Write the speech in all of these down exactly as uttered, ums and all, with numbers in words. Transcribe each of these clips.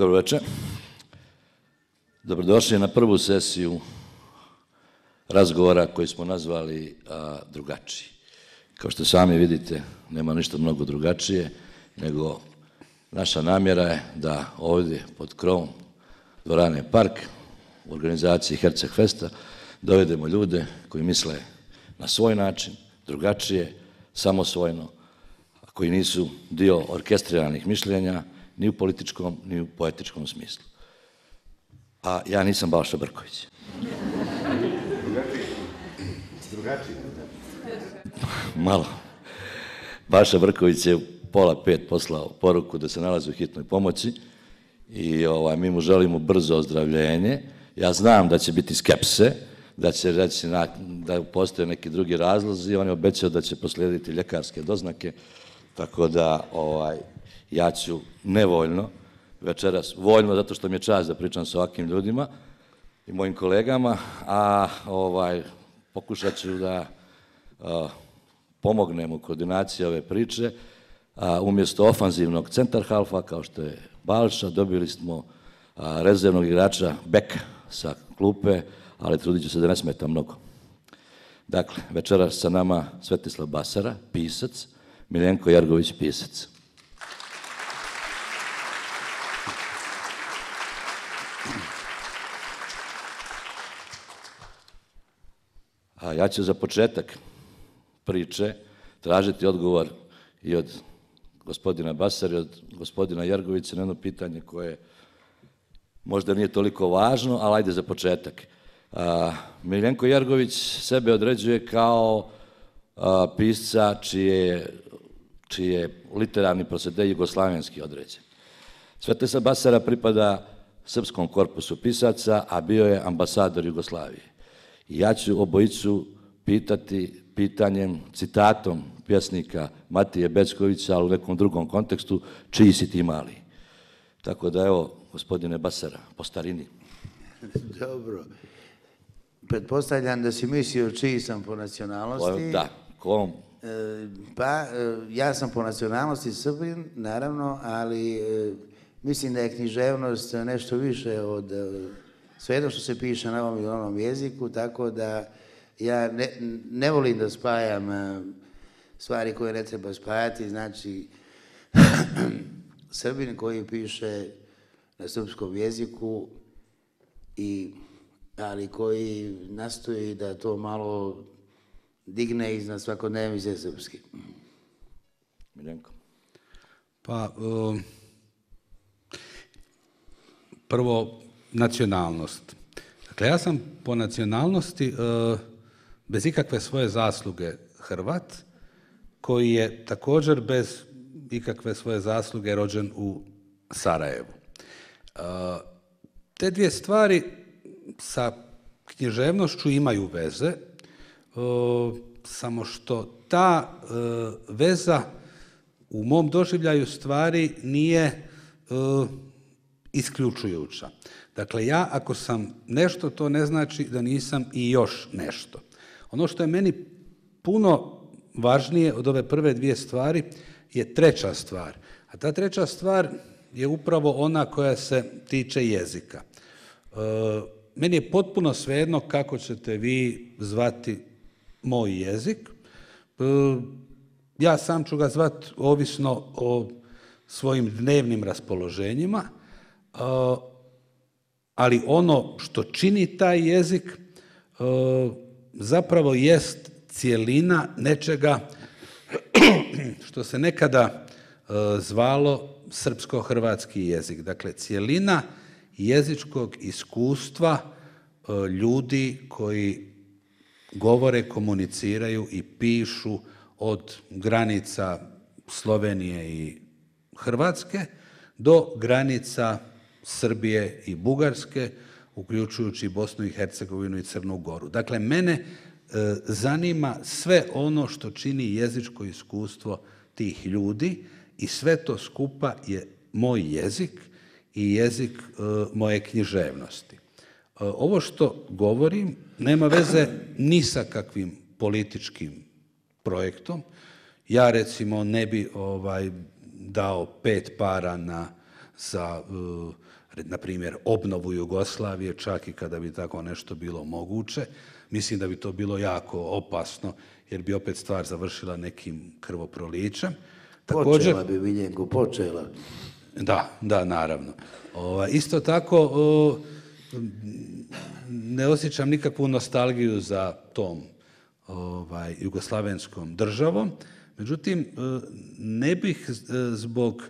Dobro večer. Dobrodošli na prvu sesiju razgovora koji smo nazvali a, drugačiji. Kao što sami vidite, nema ništa mnogo drugačije, nego naša namjera je da ovdje pod krovom dvorane Park u organizaciji Herceg Festa dovedemo ljude koji misle na svoj način, drugačije, samosvojno, a koji nisu dio orkestriranih mišljenja ni u političkom, ni u poetičkom smislu. A ja nisam Balša Brković. Drugačiji? Malo. Balša Brković je u pola pet poslao poruku da se nalazi u hitnoj pomoći i ovaj, mi mu želimo brzo ozdravljenje. Ja znam da će biti skepse, da će reći na, da postoje neki drugi razlozi. On je obećao da će poslijediti ljekarske doznake, tako da ovaj, ja ću nevoljno večeras, voljno zato što mi je čast da pričam sa ovakvim ljudima i mojim kolegama, a ovaj, pokušat ću da a, pomognem u koordinaciji ove priče. A, umjesto ofanzivnog centar halfa, kao što je Balša, dobili smo a, rezervnog igrača beka sa klupe, ali trudit ću se da ne smeta mnogo. Dakle, večeras sa nama Svetislav Basara, pisac, Miljenko Jergović, pisac. A ja ću za početak priče tražiti odgovor i od gospodina Basara i od gospodina Jergovića na jedno pitanje koje možda nije toliko važno, ali ajde za početak. A, Miljenko Jergović sebe određuje kao a, pisca čije, čiji je literarni procede jugoslavenski određen. Svetislav Basara pripada srpskom korpusu pisaca, a bio je ambasador Jugoslavije. I ja ću obojicu pitati pitanjem, citatom pjesnika Matije Beckovića, ali u nekom drugom kontekstu, čiji si ti mali. Tako da evo, gospodine Basara, po starini. Dobro. Pretpostavljam da si mislio čiji sam po nacionalnosti. Da, kom? E, pa, e, ja sam po nacionalnosti Srbin, naravno, ali e, mislim da je književnost nešto više od e, svejedno što se piše na ovom i onom jeziku, tako da ja ne, ne volim da spajam e, stvari koje ne treba spajati, znači Srbin koji piše na srpskom jeziku, i, ali koji nastoji da to malo digne iznad svakodnevnice srpski. Miljenko. Pa, um, prvo, nacionalnost. Dakle, ja sam po nacionalnosti uh, bez ikakve svoje zasluge Hrvat, koji je također bez ikakve svoje zasluge rođen u Sarajevu. Uh, te dvije stvari sa književnošću imaju veze, uh, samo što ta uh, veza u mom doživljaju stvari nije uh, isključujuća. Dakle, ja ako sam nešto, to ne znači da nisam i još nešto. Ono što je meni puno važnije od ove prve dvije stvari je treća stvar. A ta treća stvar je upravo ona koja se tiče jezika. E, meni je potpuno svejedno kako ćete vi zvati moj jezik. E, ja sam ću ga zvati ovisno o svojim dnevnim raspoloženjima, e, ali ono što čini taj jezik e, zapravo jest cjelina nečega što se nekada e, zvalo srpsko-hrvatski jezik. Dakle, cjelina jezičkog iskustva e, ljudi koji govore, komuniciraju i pišu od granica Slovenije i Hrvatske do granica Srbije i Bugarske, uključujući Bosnu i Hercegovinu i Crnu Goru. Dakle, mene e, zanima sve ono što čini jezičko iskustvo tih ljudi i sve to skupa je moj jezik i jezik e, moje književnosti. E, ovo što govorim nema veze ni sa kakvim političkim projektom. Ja recimo ne bi ovaj, dao pet para na, za uh, na primjer, obnovu Jugoslavije, čak i kada bi tako nešto bilo moguće. Mislim da bi to bilo jako opasno, jer bi opet stvar završila nekim krvoprolićem. Također, počela bi, Miljenko, počela. Da, da, naravno. O, isto tako, o, ne osjećam nikakvu nostalgiju za tom ovaj, jugoslavenskom državom, međutim, ne bih zbog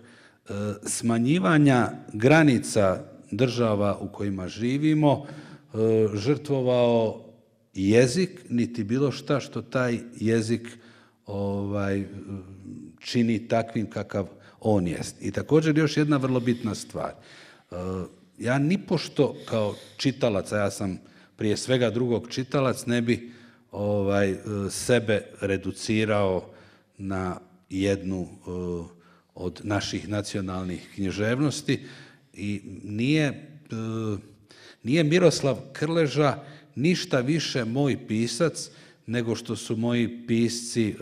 smanjivanja granica država u kojima živimo žrtvovao jezik, niti bilo šta što taj jezik ovaj, čini takvim kakav on jest. I također još jedna vrlo bitna stvar. Ja nipošto kao čitalac, a ja sam prije svega drugog čitalac, ne bi ovaj, sebe reducirao na jednu od naših nacionalnih književnosti i nije, nije Miroslav Krleža ništa više moj pisac nego što su moji pisci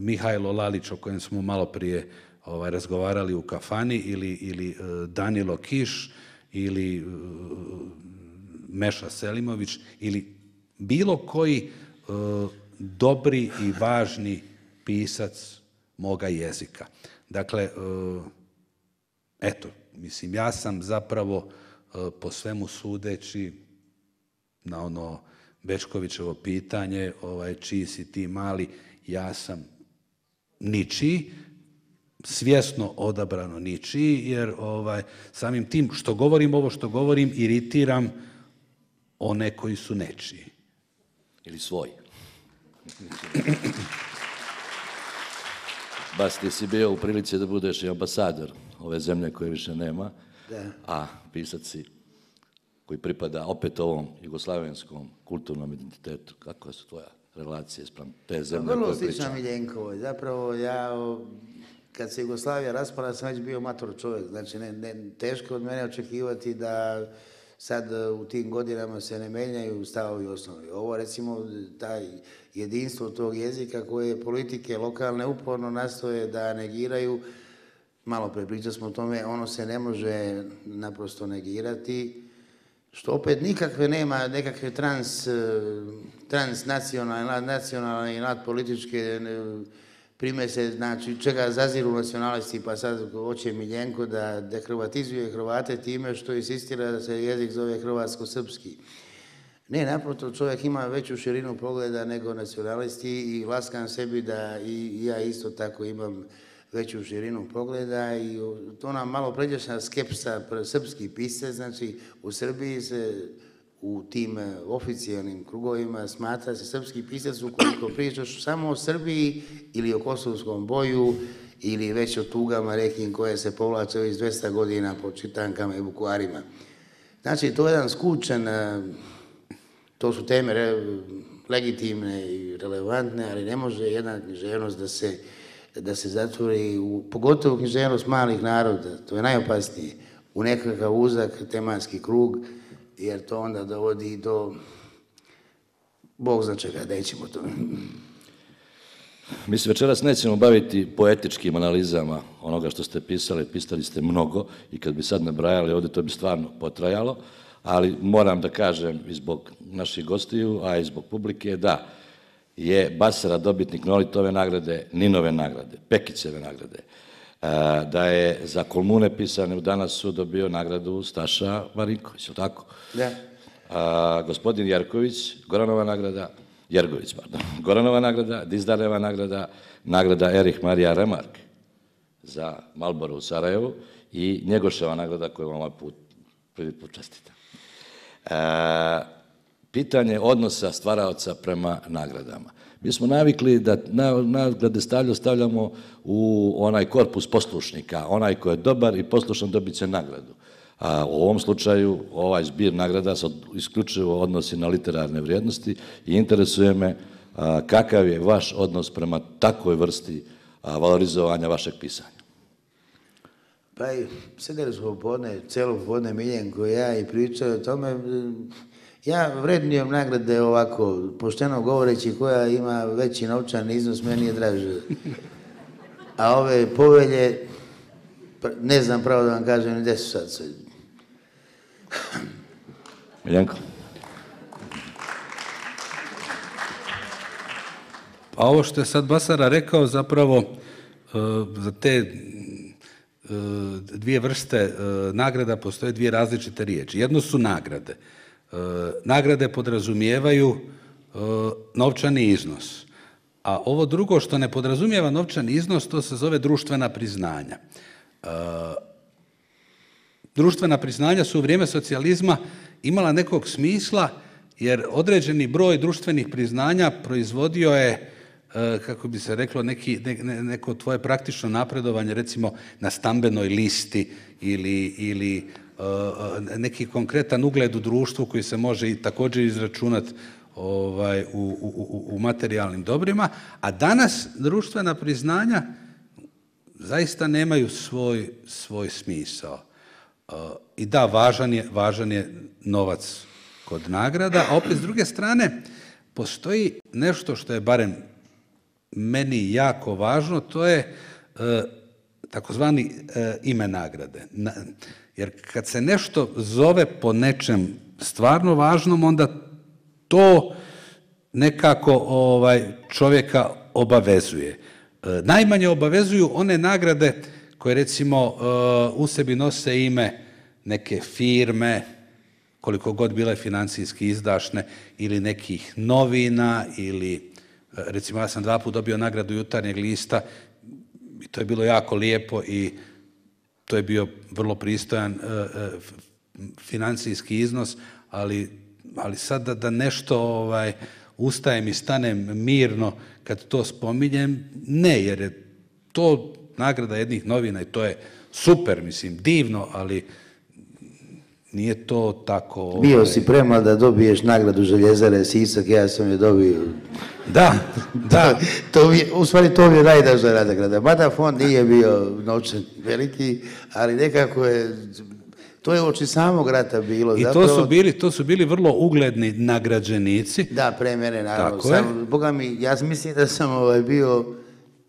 Mihajlo Lalić, o kojem smo malo prije ovaj, razgovarali u kafani, ili, ili Danilo Kiš, ili Meša Selimović, ili bilo koji dobri i važni pisac moga jezika. Dakle, eto, mislim, ja sam zapravo po svemu sudeći na ono Bečkovićevo pitanje, ovaj, čiji si ti mali, ja sam ničiji, svjesno odabrano ničiji, jer ovaj, samim tim što govorim ovo što govorim, iritiram one koji su nečiji. Ili svoj. Bas, ti si bio u prilici da budeš i ambasador ove zemlje koje više nema, da. A pisac si koji pripada opet ovom jugoslavenskom kulturnom identitetu. Kako su tvoja relacije spram te zemlje koje pričam? Vrlo slična Miljenkovoj. Zapravo ja, kad se Jugoslavija raspala, sam već bio mator čovjek. Znači, ne, ne, teško od mene očekivati da sad u tim godinama se ne menjaju stavovi osnovi. Ovo, recimo, taj jedinstvo tog jezika koje politike lokalne uporno nastoje da negiraju, malo pre pričali smo o tome, ono se ne može naprosto negirati, što opet nikakve nema, nekakve trans, transnacionalne, nacionalne i nadpolitičke primese, znači čega zaziru nacionalisti, pa sad hoće Miljenko da dehrvatizuje Hrvate time što insistira da se jezik zove hrvatsko-srpski. Ne, naprotiv, čovjek ima veću širinu pogleda nego nacionalisti i laskam sebi da i ja isto tako imam veću širinu pogleda i to nam malo pređešna skepsa srpskih pisca, znači u Srbiji se u tim oficijalnim krugovima smatra se srpski pisac ukoliko pričaš samo o Srbiji ili o kosovskom boju ili već o tugama rekim koje se povlače već dvesta godina po čitankama i vukovarima. Znači, to je jedan skučen, to su teme legitimne i relevantne, ali ne može jedna književnost da se, da se zatvori, u, pogotovo književnost malih naroda, to je najopasnije, u nekakav uzak tematski krug, jer to onda dovodi do, Bog zna čega, nećemo to. Mi se večeras nećemo baviti poetičkim analizama onoga što ste pisali, pisali ste mnogo i kad bi sad nabrajali ovdje, to bi stvarno potrajalo, ali moram da kažem i zbog naših gostiju, a i zbog publike, da je Basara dobitnik Nolitove nagrade, Ninove nagrade, Pekićeve nagrade, da je za Kolmune pisane u Danas su dobio nagradu Staša Marinković, je li tako? Da. A, gospodin Jerković, Goranova nagrada, Jergović, pardon, Goranova nagrada, Dizdareva nagrada, nagrada Erich Marija Remark za Marlboro u Sarajevu i Njegoševa nagrada koju vam ovaj put prvi put čestitam. E, pitanje odnosa stvaraoca prema nagradama. Mi smo navikli da nagrade stavljamo u onaj korpus poslušnika, onaj ko je dobar i poslušan dobit će nagradu. A u ovom slučaju ovaj zbir nagrada se isključivo odnosi na literarne vrijednosti i interesuje me a, kakav je vaš odnos prema takvoj vrsti a, valorizovanja vašeg pisanja. Pa i sedeli smo popodne, celo popodne Miljenko i ja i pričali o tome. Ja vrednujem nagrade ovako, pošteno govoreći, koja ima veći novčani iznos, meni je draže. A ove povelje, ne znam pravo da vam kažem ni gdje su sad sve. Miljenko? Pa ovo što je sad Basara rekao, zapravo uh, za te uh, dvije vrste uh, nagrada postoje dvije različite riječi. Jedno su nagrade. Uh, nagrade podrazumijevaju uh, novčani iznos. A ovo drugo što ne podrazumijeva novčani iznos, to se zove društvena priznanja. Uh, društvena priznanja su u vrijeme socijalizma imala nekog smisla, jer određeni broj društvenih priznanja proizvodio je, kako bi se reklo, neki, ne, neko tvoje praktično napredovanje, recimo na stambenoj listi ili, ili uh, neki konkretan ugled u društvu koji se može i također izračunati ovaj, u, u, u materijalnim dobrima, a danas društvena priznanja zaista nemaju svoj, svoj smisao. Uh, I da, važan je, važan je novac kod nagrada, a opet s druge strane postoji nešto što je barem meni jako važno, to je e, takozvani e, ime nagrade. Na, jer kad se nešto zove po nečem stvarno važnom, onda to nekako ovaj, čovjeka obavezuje. E, najmanje obavezuju one nagrade koje recimo e, u sebi nose ime neke firme, koliko god bile financijski izdašne, ili nekih novina, ili recimo ja sam dva put dobio nagradu Jutarnjeg lista i to je bilo jako lijepo i to je bio vrlo pristojan financijski iznos, ali, ali sad da, da nešto ovaj, ustajem i stanem mirno kad to spominjem, ne, jer je to nagrada jednih novina i to je super, mislim, divno, ali nije to tako... Ovaj... Bio si premlad da dobiješ nagradu Željezare Sisak, ja sam je dobio. Da, da. to, to je, u stvari to mi je najdraža nagrada. Mada fond nije bio novčan veliki, ali nekako je... To je oči samog rata bilo. I zapravo... to su bili, to su bili vrlo ugledni nagrađenici. Da, pre mene, naravno. Tako sam, je. Boga mi, ja mislim da sam ovaj, bio...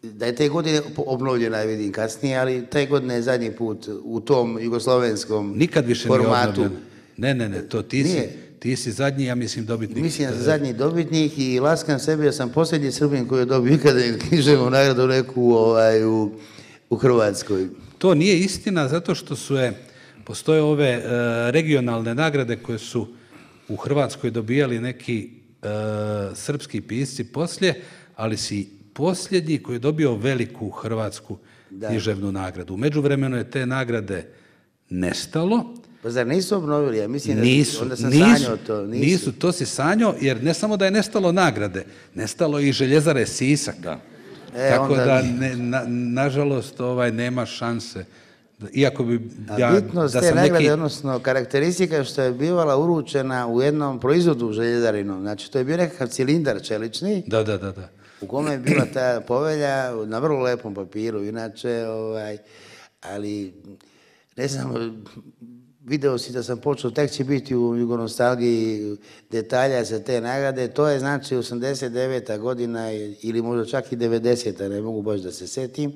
Da je te godine obnovljena, vidim kasnije, ali te godine je zadnji put u tom jugoslovenskom Nikad više formatu. Nije ne, ne, ne, to ti si, ti si zadnji, ja mislim, dobitnik. Mislim da sam zadnji dobitnik i laskam sebe, ja sam posljednji Srbin koji je dobio ikada književnu nagradu neku ovaj, u, u Hrvatskoj. To nije istina, zato što su je, postoje ove uh, regionalne nagrade koje su u Hrvatskoj dobijali neki uh, srpski pisci poslije, ali si posljednji koji je dobio veliku hrvatsku da. književnu nagradu. U međuvremenu je te nagrade nestalo. Pa zar nisu obnovili? Ja mislim da nisu, onda sam nisu, sanjao to. Nisu. nisu, to si sanjao, jer ne samo da je nestalo nagrade, nestalo i Željezare Sisak. Da. E, Tako onda... da, ne, na, nažalost, ovaj, nema šanse. Iako bi... Ja, A bitnost da te sam nagrade, neki... odnosno karakteristika što je bivala uručena u jednom proizvodu željezarinom. Znači, to je bio nekakav cilindar čelični. Da, da, da, da. U kome je bila ta povelja na vrlo lepom papiru, inače, ovaj, ali ne znam, video si da sam počeo, tek će biti u Jugonostalgiji detalja za te nagrade, to je znači osamdeset deveta godina ili možda čak i devedeseta, ne mogu baš da se setim,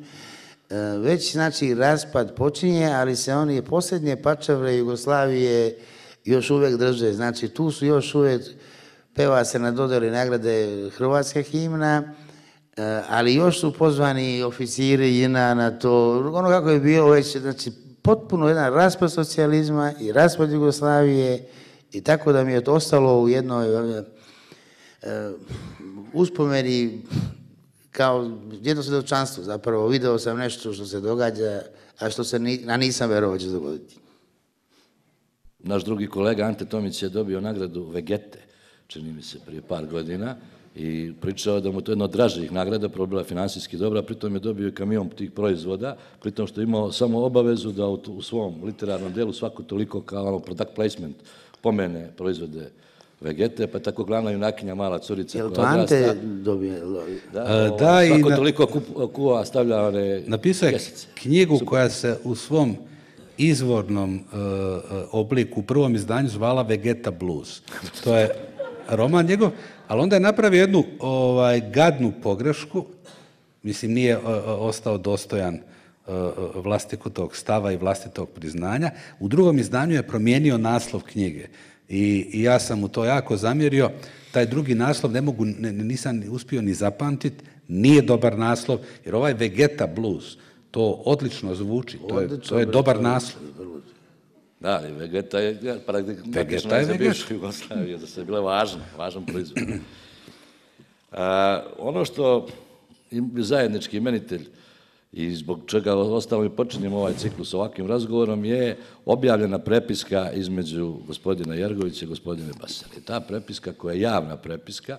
već znači raspad počinje, ali se oni posljednje pačavre Jugoslavije još uvijek drže, znači tu su još uvijek, peva se na dodjeli nagrade hrvatska himna, ali još su pozvani oficiri i na, na to, ono kako je bilo već, znači potpuno jedan raspad socijalizma i raspad Jugoslavije i tako da mi je to ostalo u jednoj uh, uspomeni kao jedno svjedočanstvo, zapravo video sam nešto što se događa, a što se ni, a nisam verovao će se dogoditi. Naš drugi kolega Ante Tomić je dobio nagradu Vegete, čini mi se, prije par godina i pričao da mu to je jedna od dražih nagrada, prvo bila finansijski dobra, pritom je dobio i kamion tih proizvoda, pritom što je imao samo obavezu da u, u svom literarnom delu svako toliko kao ono product placement pomene proizvode Vegete, pa tako glavna junakinja, mala curica. Jel to Ante dobije? Da, o, da svako i na, toliko kuva stavlja one napisao je kesice. Knjigu Super. Koja se u svom izvornom uh, obliku u prvom izdanju zvala Vegeta Blues. To je roman njegov, ali onda je napravio jednu ovaj, gadnu pogrešku, mislim nije uh, ostao dostojan uh, vlastitog stava i vlastitog priznanja. U drugom izdanju je promijenio naslov knjige i, i ja sam mu to jako zamjerio. Taj drugi naslov ne mogu, ne, nisam uspio ni zapamtiti, nije dobar naslov, jer ovaj Vegeta Blues, to odlično zvuči, to je, to je dobar naslov. Da, ali Vegeta je praktično za bivšu Jugoslaviju, da se je bila važna, važan proizvod. A, ono što je zajednički imenitelj i zbog čega ostalo i počinjemo ovaj ciklus ovakvim razgovorom je objavljena prepiska između gospodina Jergovića i gospodina Basara. I ta prepiska koja je javna prepiska,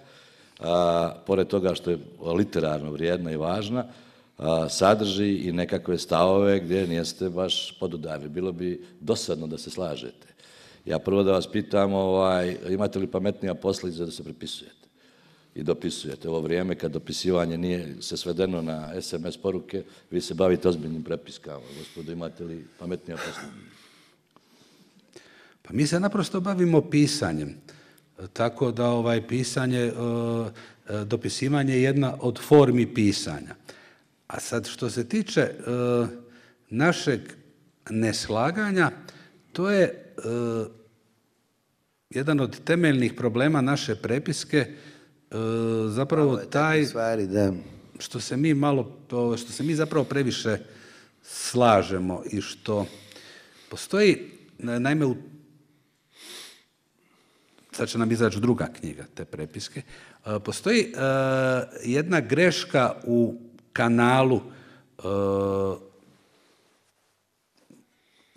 a, pored toga što je literarno vrijedna i važna, a, sadrži i nekakve stavove gdje niste baš podudarni. Bilo bi dosadno da se slažete. Ja prvo da vas pitam, ovaj, imate li pametnija posljedica da se prepisujete i dopisujete? Ovo vrijeme kad dopisivanje nije se svedeno na es em es poruke, vi se bavite ozbiljnim prepiskama. Gospodo, imate li pametnija posljedica? Pa mi se naprosto bavimo pisanjem. Tako da ovaj pisanje, dopisivanje je jedna od formi pisanja. A sad što se tiče našeg neslaganja, to je jedan od temeljnih problema naše prepiske, zapravo taj što se mi malo, što se mi zapravo previše slažemo i što postoji, naime, u sad će nam izaći druga knjiga te prepiske, postoji uh, jedna greška u kanalu uh,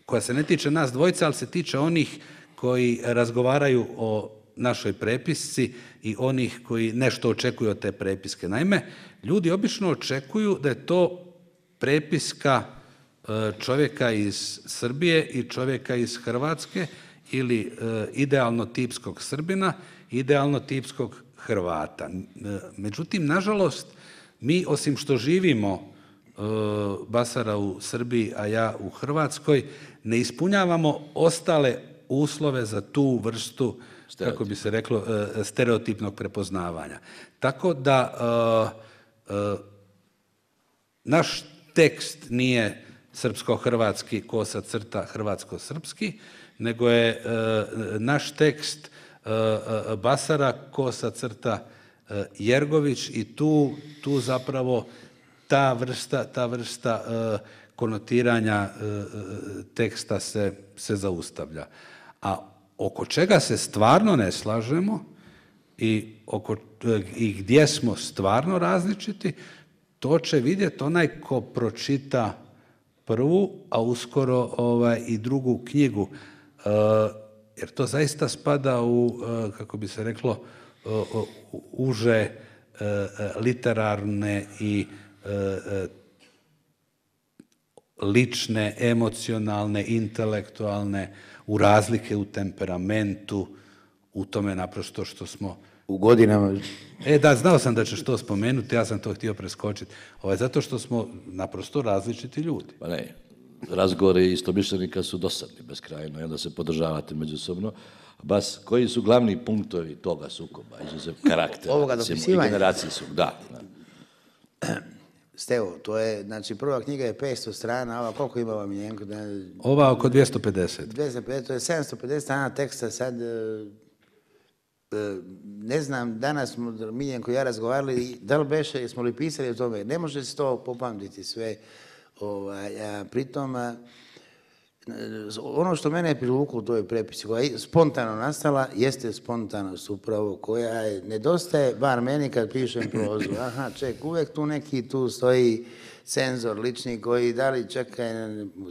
koja se ne tiče nas dvojica, ali se tiče onih koji razgovaraju o našoj prepisci i onih koji nešto očekuju od te prepiske. Naime, ljudi obično očekuju da je to prepiska uh, čovjeka iz Srbije i čovjeka iz Hrvatske, ili e, idealno tipskog Srbina, idealno tipskog Hrvata. E, međutim, nažalost, mi osim što živimo e, Basara u Srbiji, a ja u Hrvatskoj, ne ispunjavamo ostale uslove za tu vrstu, Stereotip. kako bi se reklo, e, stereotipnog prepoznavanja. Tako da e, e, naš tekst nije srpsko-hrvatski, kosa crta, hrvatsko-srpski, nego je e, naš tekst e, Basara, kosa crta e, Jergović i tu, tu zapravo ta vrsta, ta vrsta e, konotiranja e, teksta se, se zaustavlja. A oko čega se stvarno ne slažemo i, oko, i gdje smo stvarno različiti, to će vidjeti onaj ko pročita prvu, a uskoro ovaj, i drugu knjigu. Uh, jer to zaista spada u, uh, kako bi se reklo, uh, uh, uže uh, uh, literarne i uh, uh, lične, emocionalne, intelektualne, u razlike u temperamentu, u tome naprosto što smo... U godinama... E da, znao sam da ćeš to spomenuti, ja sam to htio preskočiti. Ovaj, zato što smo naprosto različiti ljudi. Pa ne, razgovori istomišljenika su dosadni beskrajno i onda se podržavate međusobno. Bas, koji su glavni punktovi toga sukoba, izuzev karaktera? Ovoga dopisivanja? I generacijskog, da. da. Stevo, to je, znači prva knjiga je petsto strana, ova koliko ima ova Miljenko? Ova oko dvjesto pedeset. dvjesto pedeset, to je sedamsto pedeset strana teksta, sad ne znam, danas smo Miljenko i ja razgovarali, da li beše, smo li pisali o tome, ne može se to popamtiti sve, ovaj, a pritom a, ono što mene je privuklo u toj prepisi, koja je spontano nastala, jeste spontanost upravo, koja je, nedostaje, bar meni kad pišem prozu, aha, ček, uvek tu neki, tu stoji cenzor lični koji da li čekaj,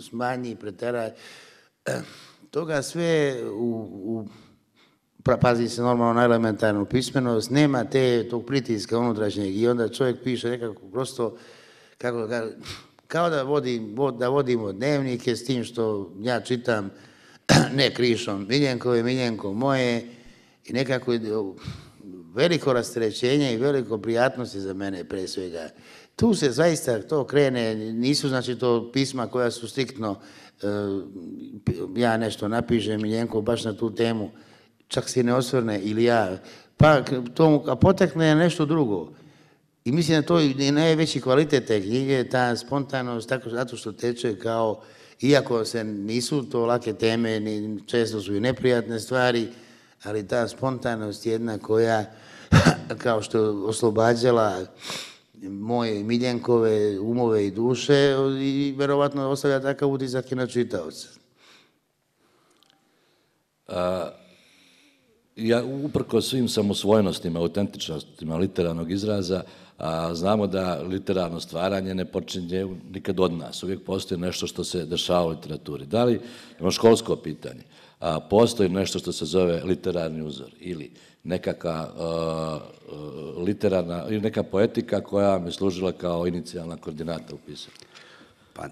smanji, preteraj, toga sve u, u pazi se normalno na elementarnu pismenost, nema te tog pritiska unutrašnjeg i onda čovjek piše nekako prosto, kako da kao da, vodim, da vodimo dnevnike s tim što ja čitam ne krišom Miljenkove, Miljenko moje i nekako veliko rasterećenje i veliko prijatnosti za mene pre svega. Tu se zaista to krene, nisu znači to pisma koja su striktno, ja nešto napišem Miljenko baš na tu temu, čak se ne osvrne ili ja, pa to, a potekne nešto drugo. I mislim da to je najveći kvalitet te knjige, ta spontanost, tako zato što teče kao, iako se nisu to lake teme, ni, često su i neprijatne stvari, ali ta spontanost jedna koja, kao što je oslobađala moje Miljenkove umove i duše i verovatno ostavlja takav utisak i na čitaoca. Ja, uprko svim samosvojnostima, autentičnostima literarnog izraza, a, znamo da literarno stvaranje ne počinje nikad od nas. Uvijek postoji nešto što se dešava u literaturi. Da li, imamo školsko pitanje, a, postoji nešto što se zove literarni uzor ili nekaka a, literarna, ili neka poetika koja mi služila kao inicijalna koordinata u pisanju? Pa,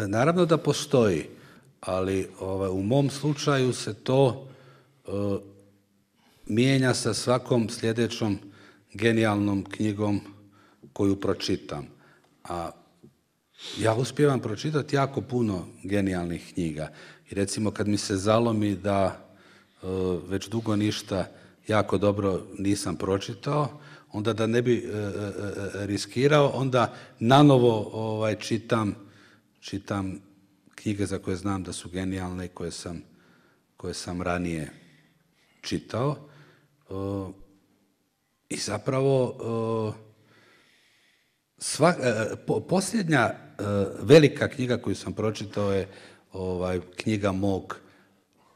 naravno da postoji, ali ovaj, u mom slučaju se to uh, mijenja sa svakom sljedećom genijalnom knjigom koju pročitam. A ja uspijevam pročitati jako puno genijalnih knjiga. I recimo kad mi se zalomi da uh, već dugo ništa jako dobro nisam pročitao, onda da ne bi uh, uh, riskirao, onda nanovo ovaj, čitam, čitam knjige za koje znam da su genijalne i koje sam, koje sam ranije čitao. Uh, I zapravo uh, sva, uh, po, posljednja uh, velika knjiga koju sam pročitao je ovaj, knjiga mog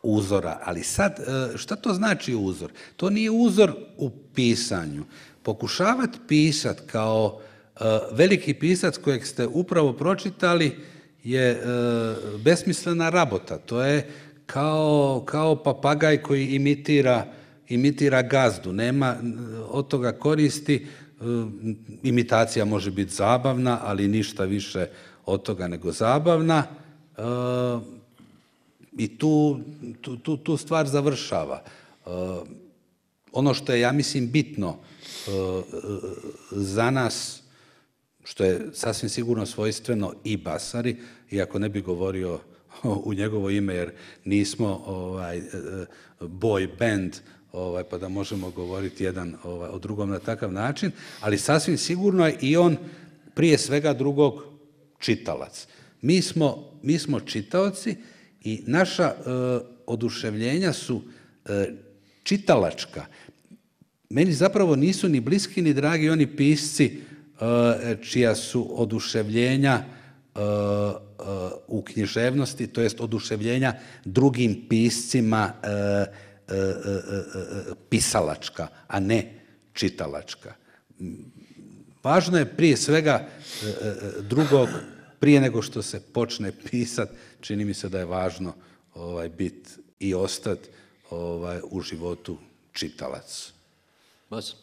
uzora. Ali sad, uh, šta to znači uzor? To nije uzor u pisanju. Pokušavati pisati kao uh, veliki pisac kojeg ste upravo pročitali je e, besmislena rabota. To je kao, kao papagaj koji imitira, imitira gazdu. Nema od toga koristi. E, imitacija može biti zabavna, ali ništa više od toga nego zabavna. E, I tu, tu, tu, tu stvar završava. E, ono što je, ja mislim, bitno e, za nas, što je sasvim sigurno svojstveno i Basari, iako ne bi govorio u njegovo ime, jer nismo ovaj, boy band, ovaj, pa da možemo govoriti jedan ovaj, o drugom na takav način, ali sasvim sigurno je i on prije svega drugog čitalac. Mi smo, mi smo čitaoci i naša e, oduševljenja su e, čitalačka. Meni zapravo nisu ni bliski ni dragi oni pisci čija su oduševljenja u književnosti, to jest oduševljenja drugim piscima pisalačka, a ne čitalačka. Važno je prije svega drugog, prije nego što se počne pisati, čini mi se da je važno ovaj, biti i ostati ovaj, u životu čitalac. Bas?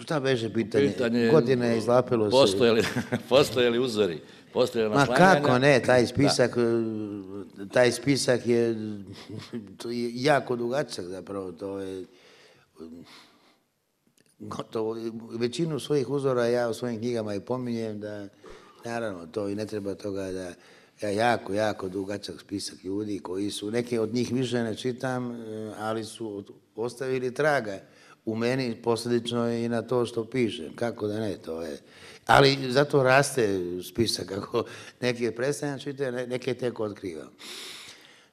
Šta beže pitanje? Pitanje Godine je izlapilo se. Postoje li, postoje li uzori? Postoje li Ma naslanjanja? kako ne, taj spisak, taj spisak je, to je jako dugačak zapravo, to je gotovo, većinu svojih uzora ja u svojim knjigama i pominjem da, naravno, to i ne treba toga da, ja jako, jako dugačak spisak ljudi koji su, neke od njih više ne čitam, ali su ostavili traga u meni, posljedično i na to što pišem, kako da ne, to je. Ali zato raste spisak, kako neke predstavljam čitaju, neke tek otkrivam.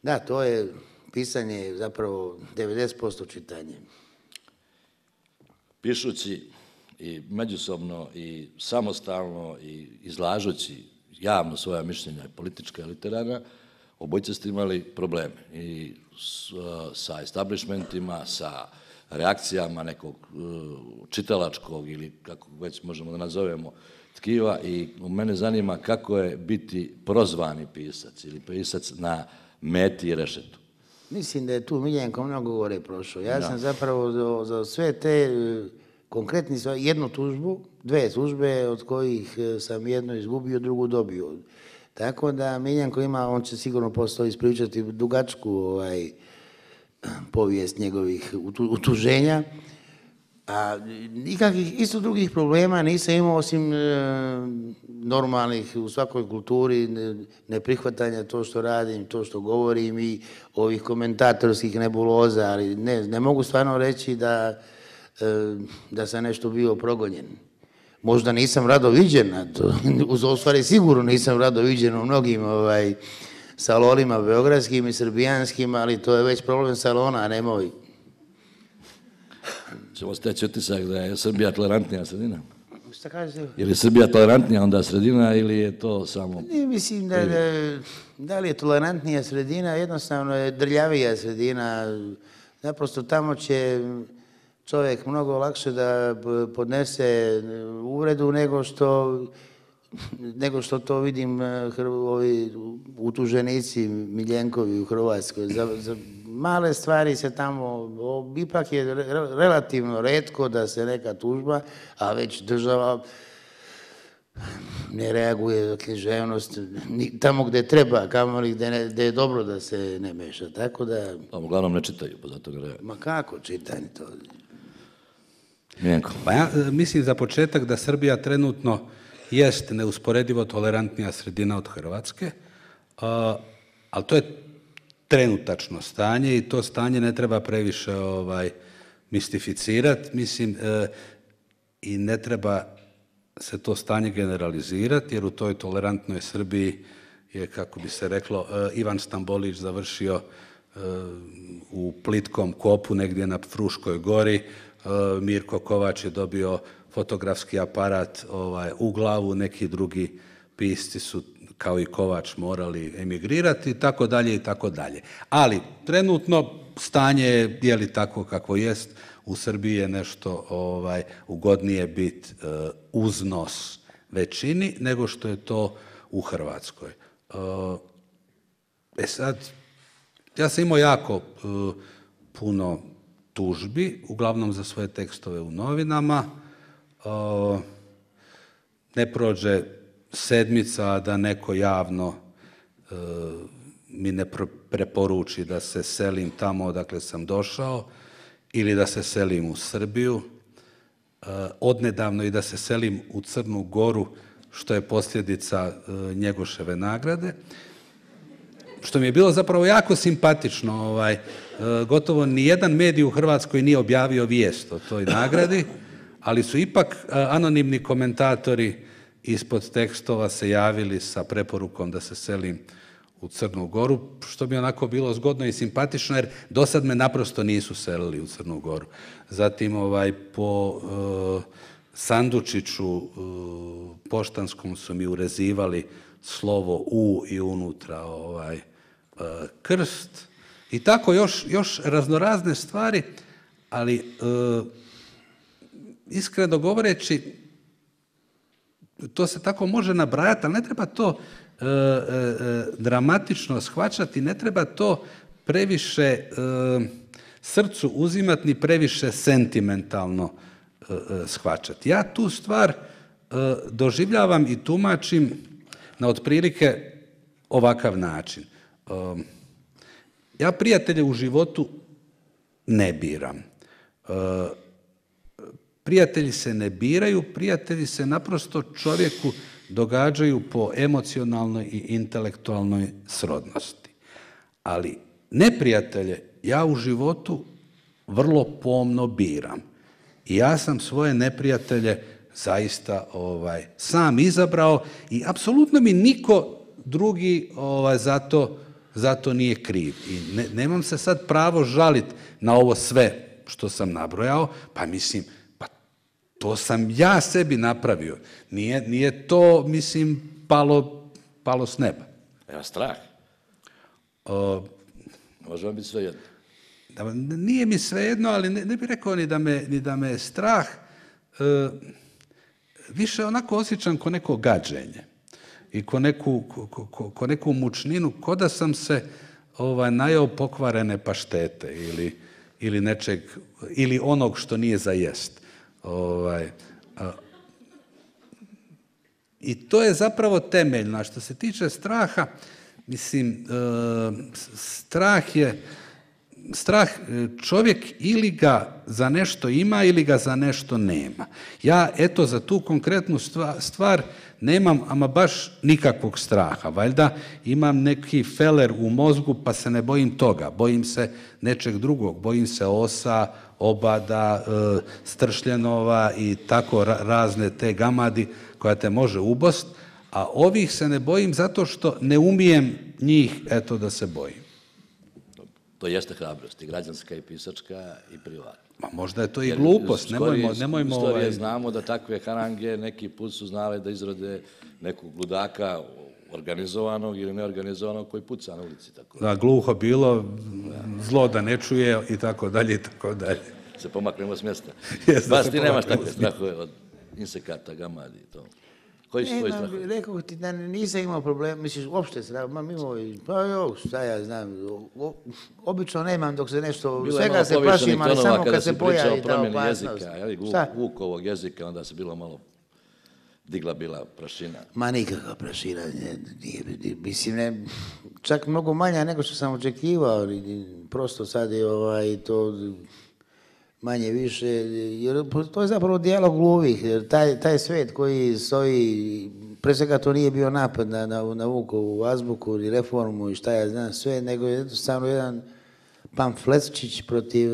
Da, to je pisanje zapravo devedeset posto čitanje. Pišući i međusobno i samostalno i izlažući javno svoja mišljenja i politička i literarna, obojice ste imali probleme i s, sa establishmentima, sa reakcijama nekog čitalačkog ili kako već možemo da nazovemo tkiva i mene zanima kako je biti prozvani pisac ili pisac na meti i rešetu. Mislim da je tu Miljenko mnogo gore prošao. Ja da. sam zapravo za, za sve te konkretni, jednu tužbu, dve tužbe od kojih sam jednu izgubio, drugu dobio. Tako da Miljenko ima, on će sigurno postao ispričati dugačku ovaj, povijest njegovih utuženja, a nikakvih isto drugih problema nisam imao osim e, normalnih u svakoj kulturi, ne, neprihvatanja to što radim, to što govorim i ovih komentatorskih nebuloza, ali ne, ne mogu stvarno reći da da sam nešto bio progonjen. Možda nisam rado viđen, u stvari sigurno nisam rado viđen u mnogim ovaj, salonima beogradskim i srbijanskim, ali to je već problem salona, a ne moj. Ćemo steći utisak da je Srbija tolerantnija sredina? Šta kažete? Je li Srbija tolerantnija onda sredina ili je to samo... Ne, mislim da, da, da li je tolerantnija sredina, jednostavno je drljavija sredina. Naprosto tamo će čovjek mnogo lakše da podnese uvredu nego što, nego što to vidim ovi utuženici Miljenkovi u Hrvatskoj. Za, za male stvari se tamo, ipak je relativno retko da se neka tužba, a već država ne reaguje za književnost tamo gdje treba, kamoli gdje je dobro da se ne meša. Tako da... Pa uglavnom ne čitaju, pa zato ne reaguju. Ma kako čitanje to? Miljenko. Pa ja mislim za početak da Srbija trenutno jest neusporedivo tolerantnija sredina od Hrvatske, ali to je trenutačno stanje i to stanje ne treba previše ovaj, mistificirati, mislim, e, i ne treba se to stanje generalizirati, jer u toj tolerantnoj Srbiji je, kako bi se reklo, e, Ivan Stambolić završio e, u plitkom kopu negdje na Fruškoj gori, e, Mirko Kovač je dobio fotografski aparat ovaj, u glavu, neki drugi pisci su kao i Kovač morali emigrirati i tako dalje i tako dalje. Ali trenutno stanje je, je li tako kako jest, u Srbiji je nešto ovaj, ugodnije biti uh, uznos većini nego što je to u Hrvatskoj. Uh, e sad, ja sam imao jako uh, puno tužbi, uglavnom za svoje tekstove u novinama. Uh, ne prođe sedmica da neko javno e, mi ne preporuči da se selim tamo odakle sam došao ili da se selim u Srbiju, e, odnedavno i da se selim u Crnu Goru, što je posljedica e, Njegoševe nagrade, što mi je bilo zapravo jako simpatično. Ovaj, e, gotovo nijedan medij u Hrvatskoj nije objavio vijest o toj nagradi, ali su ipak e, anonimni komentatori ispod tekstova se javili sa preporukom da se selim u Crnu Goru, što bi onako bilo zgodno i simpatično, jer do sad me naprosto nisu selili u Crnu Goru. Zatim ovaj, po uh, sandučiću uh, poštanskom su mi urezivali slovo U i unutra ovaj, uh, krst. I tako još, još raznorazne stvari, ali uh, iskreno govoreći, to se tako može nabrajati, ali ne treba to e, e, dramatično shvaćati, ne treba to previše e, srcu uzimati ni previše sentimentalno e, e, shvaćati. Ja tu stvar e, doživljavam i tumačim na otprilike ovakav način. E, ja prijatelje u životu ne biram. E, Prijatelji se ne biraju, prijatelji se naprosto čovjeku događaju po emocionalnoj i intelektualnoj srodnosti. Ali neprijatelje ja u životu vrlo pomno biram. I ja sam svoje neprijatelje zaista ovaj, sam izabrao i apsolutno mi niko drugi ovaj, za to, za to nije kriv. I ne, nemam se sad pravo žaliti na ovo sve što sam nabrojao, pa mislim, to sam ja sebi napravio. Nije, nije to, mislim, palo, palo s neba. Evo strah. O, Može vam biti sve jedno. Da, nije mi sve jedno, ali ne, ne bih rekao ni da me, ni da me je strah. E, više onako osjećam ko neko gađenje i ko neku, ko, ko, ko neku mučninu, ko da sam se ovaj, najeo pokvarene paštete ili, ili nečeg, ili onog što nije za jest. Ovaj, a, i to je zapravo temeljno. A što se tiče straha, mislim, e, strah je strah, čovjek ili ga za nešto ima ili ga za nešto nema. Ja, eto, za tu konkretnu stvar nemam ama baš nikakvog straha. Valjda imam neki feler u mozgu pa se ne bojim toga. Bojim se nečeg drugog. Bojim se osa, obada, stršljenova i tako razne te gamadi koja te može ubost. A ovih se ne bojim zato što ne umijem njih, eto, da se bojim. To jeste hrabrost, i građanska, i pisačka, i privatna. Ma možda je to i glupost, nemojmo... nemojmo istorije znamo da takve harange neki put su znale da izrode nekog ludaka organizovanog ili neorganizovanog koji puca na ulici. Da, gluho bilo, zlo da ne čuje i tako dalje i tako dalje. Se pomaknemo s mjesta. Bas, ti nemaš takve strahove od insekata, gamadi i to. Koji su tvoji strahovi? Rekao ti da nisam imao problem, misliš, uopšte strah, ma mimo, pa jo, šta ja znam, obično nemam dok se nešto, svega se plašim, ali samo kad se pojavi ta opasnost. Vukovog jezika, onda se bilo malo digla bila prašina. Ma nikakva prašina, nije, mislim, ne, čak mnogo manja nego što sam očekivao, prosto sad je ovaj, to... manje više, jer to je zapravo dijalog gluvih, jer taj, taj svet koji stoji, pre svega to nije bio napad na, na, na Vukovu azbuku ili reformu i šta ja znam sve, nego je jednostavno jedan pamfletčić protiv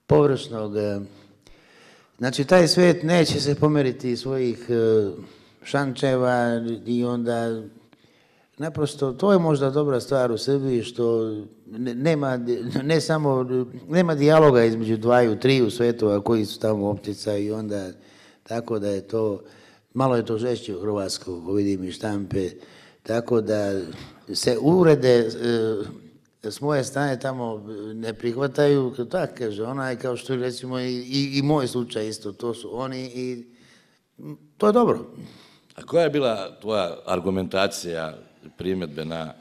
površnog. Znači, taj svet neće se pomeriti iz svojih šančeva i onda naprosto, to je možda dobra stvar u Srbiji što nema, ne samo, nema dijaloga između dvaju, triju svetova koji su tamo optica i onda tako da je to, malo je to žešće u Hrvatskoj, vidim i štampe, tako da se uvrede s moje strane tamo ne prihvataju, tako kaže onaj, kao što recimo i, i, i moj slučaj isto, to su oni i to je dobro. A koja je bila tvoja argumentacija primjedbe na,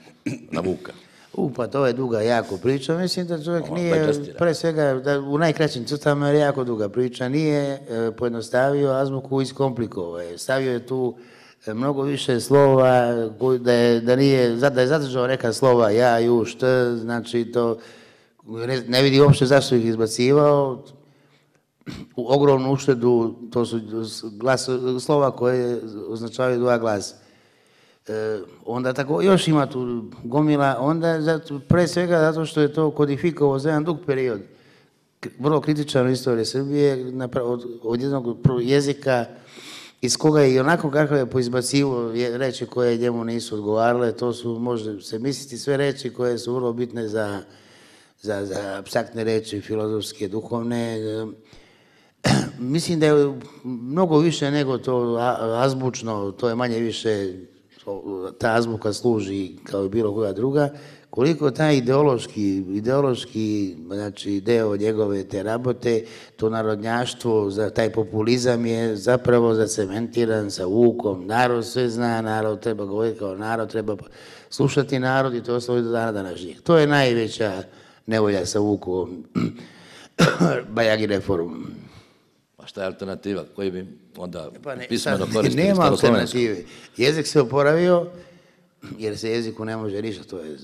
na Vuka? U, pa to je duga jako priča. Mislim da čovjek nije, pre svega, da u najkraćim crtama je jako duga priča, nije e, pojednostavio azbuku, iskomplikovao je. Stavio je tu e, mnogo više slova, da je, da nije, da je zadržao neka slova ja, ju, št, znači to, ne, ne vidi uopšte zašto ih izbacivao. U ogromnu uštedu, to su glas, slova koje označavaju dva glasa. E, onda tako još ima tu gomila, onda zato, pre svega zato što je to kodifikovao za jedan dug period, vrlo kritičan u istoriji Srbije, od, od jednog jezika iz koga je i onako kako je poizbacivo reči koje njemu nisu odgovarale, to su, može se misliti, sve reči koje su vrlo bitne za, za, za apstraktne reči, filozofske, duhovne. Mislim da je mnogo više nego to azbučno, to je manje više, ta azbuka služi kao i bilo koja druga, koliko taj ideološki, ideološki znači, deo njegove te rabote, to narodnjaštvo, za taj populizam je zapravo zacementiran sa Vukom. Narod sve zna, narod treba govoriti kao narod, treba slušati narod i to ostaje do dana današnjeg. To je najveća nevolja sa Vukovom, Bajagi reformom. A šta je alternativa? Koji bi onda pa ne, pismeno koristili? Nema alternative. Jezik se oporavio, jer se jeziku ne može ništa, to je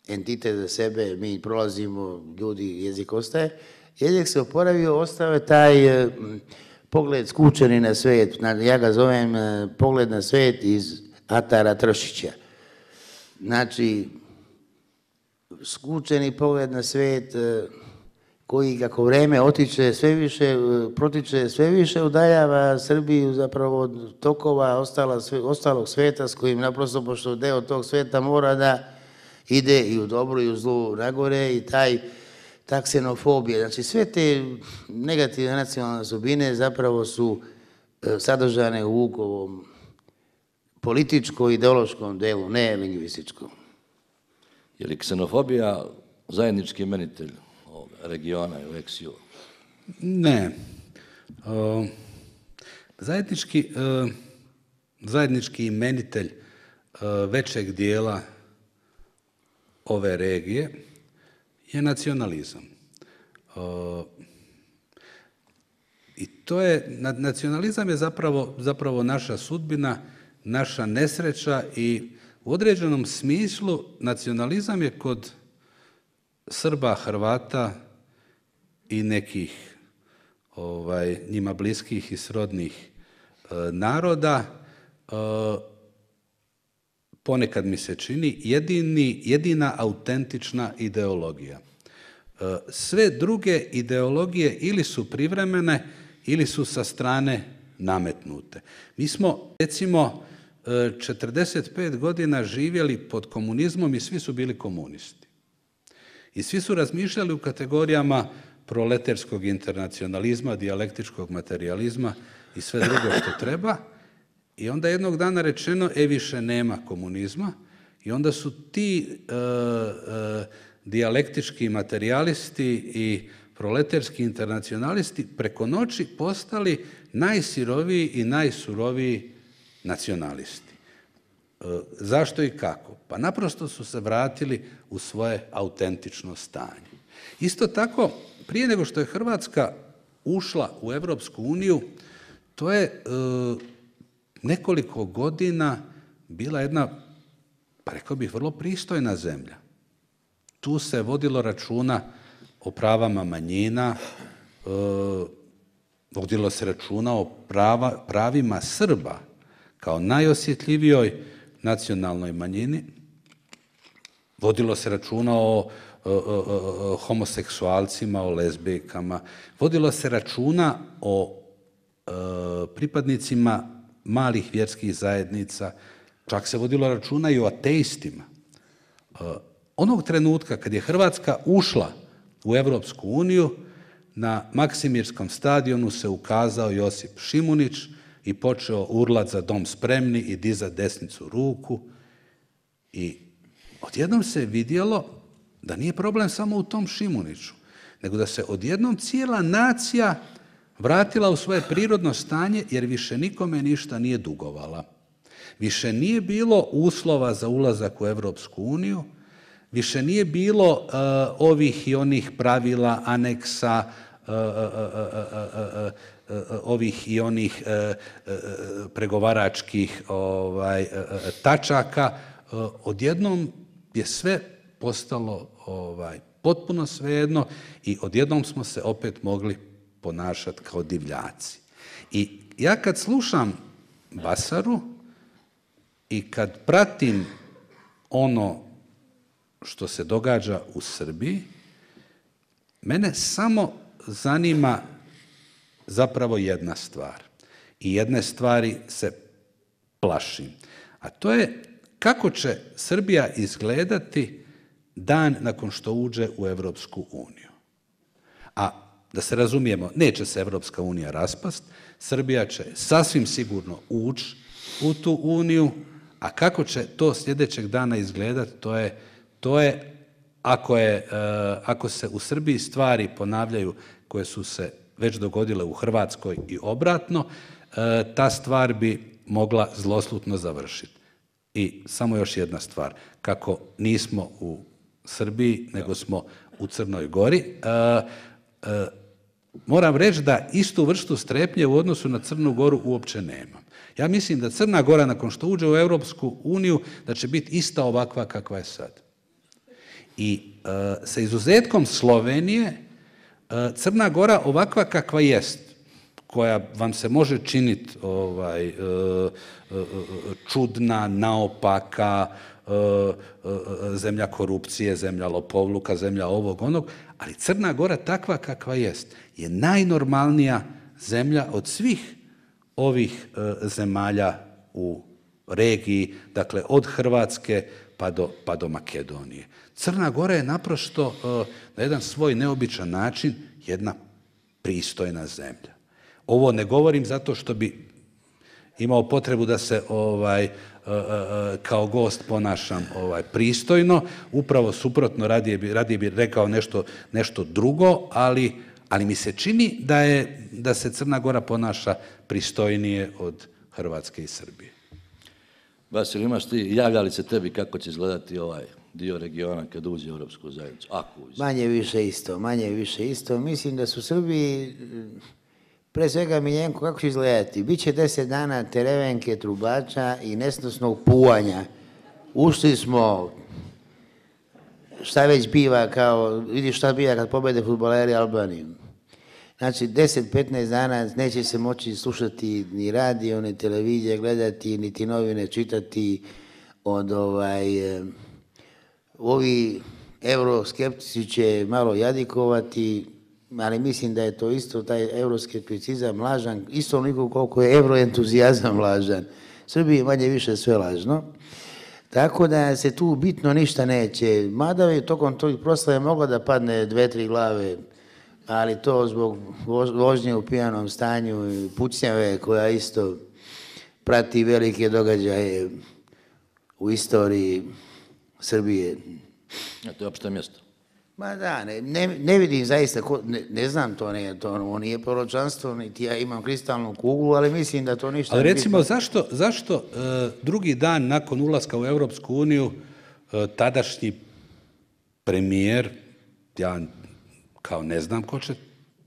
entitet za sebe, mi prolazimo, ljudi, jezik ostaje. Jezik se oporavio, ostao je taj uh, pogled skučeni na svet, ja ga zovem uh, pogled na svet iz Atara Tršića. Znači, skučeni pogled na svet, uh, koji kako vreme otiče sve više, protiče sve više, udaljava Srbiju zapravo od tokova ostala, ostalog sveta s kojim naprosto, pošto deo tog sveta mora da ide i u dobru i u zlu nagore i taj ta ksenofobija. Znači sve te negativne nacionalne osobine zapravo su sadržane u Vukovom političko-ideološkom delu, ne lingvističkom. Je li ksenofobija zajednički imenitelj regiona i u eksiju? Ne. Uh, zajednički, uh, zajednički imenitelj uh, većeg dijela ove regije je nacionalizam. Uh, I to je, nacionalizam je zapravo, zapravo naša sudbina, naša nesreća i u određenom smislu nacionalizam je kod Srba, Hrvata i nekih ovaj, njima bliskih i srodnih e, naroda, e, ponekad mi se čini jedini, jedina autentična ideologija. E, sve druge ideologije ili su privremene ili su sa strane nametnute. Mi smo, recimo, četrdeset pet godina živjeli pod komunizmom i svi su bili komunisti. I svi su razmišljali u kategorijama proleterskog internacionalizma, dijalektičkog materializma i sve drugo što treba. I onda jednog dana rečeno, e više nema komunizma. I onda su ti e, e, dijalektički materijalisti i proleterski internacionalisti preko noći postali najsiroviji i najsuroviji nacionalisti. E, zašto i kako? Pa naprosto su se vratili u svoje autentično stanje. Isto tako, prije nego što je Hrvatska ušla u Europsku uniju, to je e, nekoliko godina bila jedna, pa rekao bih, vrlo pristojna zemlja. Tu se vodilo računa o pravama manjina, e, vodilo se računa o prava, pravima Srba kao najosjetljivijoj nacionalnoj manjini, vodilo se računa o, o, o, o homoseksualcima, o lezbijkama, vodilo se računa o e, pripadnicima malih vjerskih zajednica, čak se vodilo računa i o ateistima. E, onog trenutka kad je Hrvatska ušla u Europsku uniju, na Maksimirskom stadionu se ukazao Josip Šimunić i počeo urlat za dom spremni i dizati desnicu ruku. I odjednom se vidjelo da nije problem samo u tom Šimuniću, nego da se odjednom cijela nacija vratila u svoje prirodno stanje jer više nikome ništa nije dugovala. Više nije bilo uslova za ulazak u Europsku uniju, više nije bilo uh, ovih i onih pravila, aneksa, uh, uh, uh, uh, uh, ovih i onih uh, uh, pregovaračkih ovaj, uh, tačaka. Uh, odjednom je sve postalo ovaj, potpuno svejedno i odjednom smo se opet mogli ponašati kao divljaci. I ja kad slušam Basaru i kad pratim ono što se događa u Srbiji, mene samo zanima zapravo jedna stvar. I jedne stvari se plašim. A to je kako će Srbija izgledati dan nakon što uđe u Europsku uniju. A da se razumijemo, neće se Europska unija raspast, Srbija će sasvim sigurno ući u tu uniju, a kako će to sljedećeg dana izgledati, to je To je, ako, je, ako se u Srbiji stvari ponavljaju koje su se već dogodile u Hrvatskoj i obratno, ta stvar bi mogla zloslutno završiti. I samo još jedna stvar, kako nismo u Srbiji, nego smo u Crnoj Gori, moram reći da istu vrstu strepnje u odnosu na Crnu Goru uopće nemam. Ja mislim da Crna Gora, nakon što uđe u Europsku uniju, da će biti ista ovakva kakva je sad. I e, sa izuzetkom Slovenije, e, Crna Gora ovakva kakva jest, koja vam se može činiti ovaj, e, e, čudna, naopaka, e, e, zemlja korupcije, zemlja lopovluka, zemlja ovog onog, ali Crna Gora takva kakva jest je najnormalnija zemlja od svih ovih e, zemalja u regiji, dakle od Hrvatske pa do, pa do Makedonije. Crna Gora je naprosto uh, na jedan svoj neobičan način jedna pristojna zemlja. Ovo ne govorim zato što bi imao potrebu da se ovaj, uh, uh, kao gost ponašam ovaj, pristojno, upravo suprotno, radije bi, radije bi rekao nešto, nešto drugo, ali, ali mi se čini da, je, da se Crna Gora ponaša pristojnije od Hrvatske i Srbije. Vasil, imaš ti, javlja li se tebi kako će izgledati ovaj dio regiona kad uđe u Europsku zajednicu? Ako uđe. Manje više isto, manje više isto. Mislim da su u Srbiji, pre svega Miljenko, kako će izgledati? Biće deset dana terevenke, trubača i nesnosnog puvanja. Ušli smo šta već biva kao, vidiš šta biva kad pobede fudbaleri Albaniju. Znači, deset petnaest dana neće se moći slušati ni radio, ni televizije gledati, niti novine čitati od ovaj, eh, ovi euroskeptici će malo jadikovati, ali mislim da je to isto, taj euroskepticizam lažan, isto onoliko koliko je euroentuzijazam lažan. Srbiji je manje više sve lažno. Tako da se tu bitno ništa neće. Mada je tokom tog proslave moglo da padne dve, tri glave, ali to zbog vožnje u pijanom stanju i pucnjave koja isto prati velike događaje u istoriji Srbije. A to je opšte mjesto. Ma da, ne, ne, ne vidim zaista, ko, ne, ne znam to, ne, to ono nije proročanstvo, niti ja imam kristalnu kuglu, ali mislim da to ništa... Ali recimo, bitno. zašto, zašto uh, drugi dan nakon ulaska u Europsku uniju uh, tadašnji premijer, ja kao ne znam ko će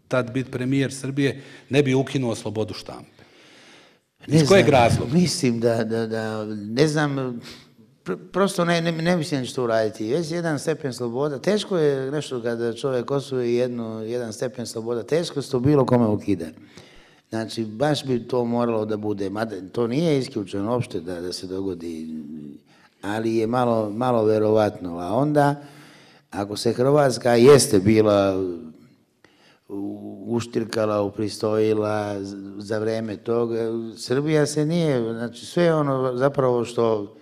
tad biti premijer Srbije, ne bi ukinuo slobodu štampe? Iz ne kojeg znam, razloga? Mislim da, da, da ne znam... Prosto ne, ne, ne mislim da će to uraditi. Već jedan stepen sloboda, teško je nešto kada čovjek osvoji jednu, jedan stepen sloboda, teško se to bilo kome ukida. Znači, baš bi to moralo da bude, mada to nije isključeno uopšte da, da se dogodi, ali je malo, malo verovatno. A onda, ako se Hrvatska jeste bila uštirkala, upristojila za vreme toga, Srbija se nije, znači sve ono zapravo što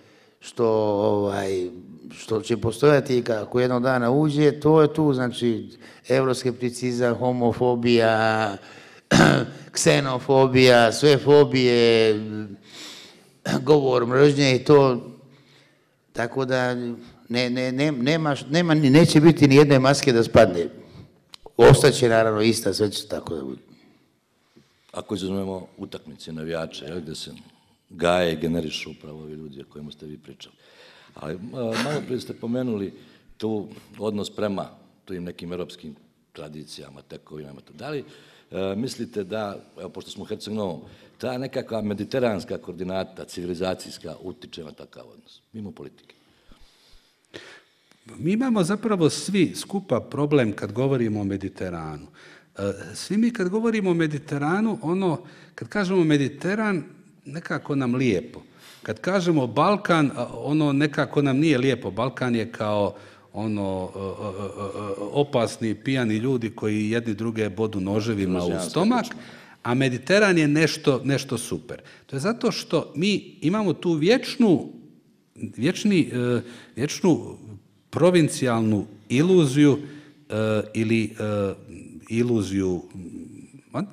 što, ovaj, što će postojati kako jednog dana uđe, to je tu, znači, euroskepticizam, homofobija, ksenofobija, sve fobije, govor mržnje i to, tako da ne, ne, ne, nema, nema, neće biti ni jedne maske da spadne. Ostaće naravno ista, sve će tako da bude. Ako izuzmemo utakmice, navijače, jel, gde se gaje i generišu upravo ovi ljudi o kojima ste vi pričali. Ali malo prije ste pomenuli tu odnos prema tim nekim europskim tradicijama, tekovinama. Da li e, mislite da, evo, pošto smo u Herceg Novom, ta nekakva mediteranska koordinata, civilizacijska, utiče na takav odnos, mimo politike? Mi imamo zapravo svi skupa problem kad govorimo o Mediteranu. Svi mi kad govorimo o Mediteranu, ono, kad kažemo Mediteran, nekako nam lijepo. Kad kažemo Balkan, ono nekako nam nije lijepo. Balkan je kao ono opasni, pijani ljudi koji jedni druge bodu noževima u stomak, a Mediteran je nešto, nešto super. To je zato što mi imamo tu vječnu, vječni, vječnu provincijalnu iluziju ili iluziju,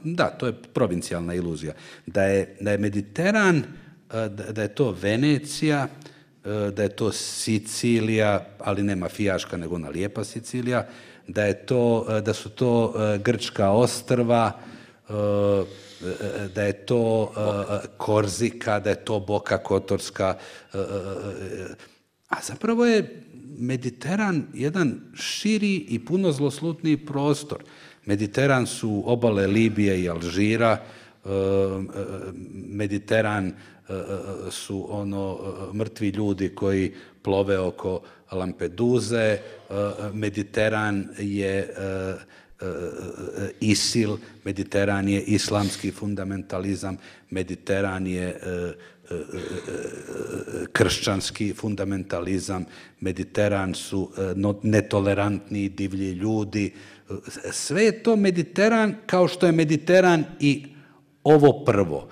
da, to je provincijalna iluzija, da je, da je Mediteran, da je to Venecija, da je to Sicilija, ali ne mafijaška, nego ona lijepa Sicilija, da, je to, da su to grčka ostrva, da je to Korzika, da je to Boka Kotorska, a zapravo je Mediteran jedan širi i puno zloslutniji prostor. Mediteran su obale Libije i Alžira, Mediteran su ono mrtvi ljudi koji plove oko Lampeduze, Mediteran je ISIL, Mediteran je islamski fundamentalizam, Mediteran je kršćanski fundamentalizam, Mediteran su netolerantni divlji ljudi. Sve je to Mediteran kao što je Mediteran i ovo prvo.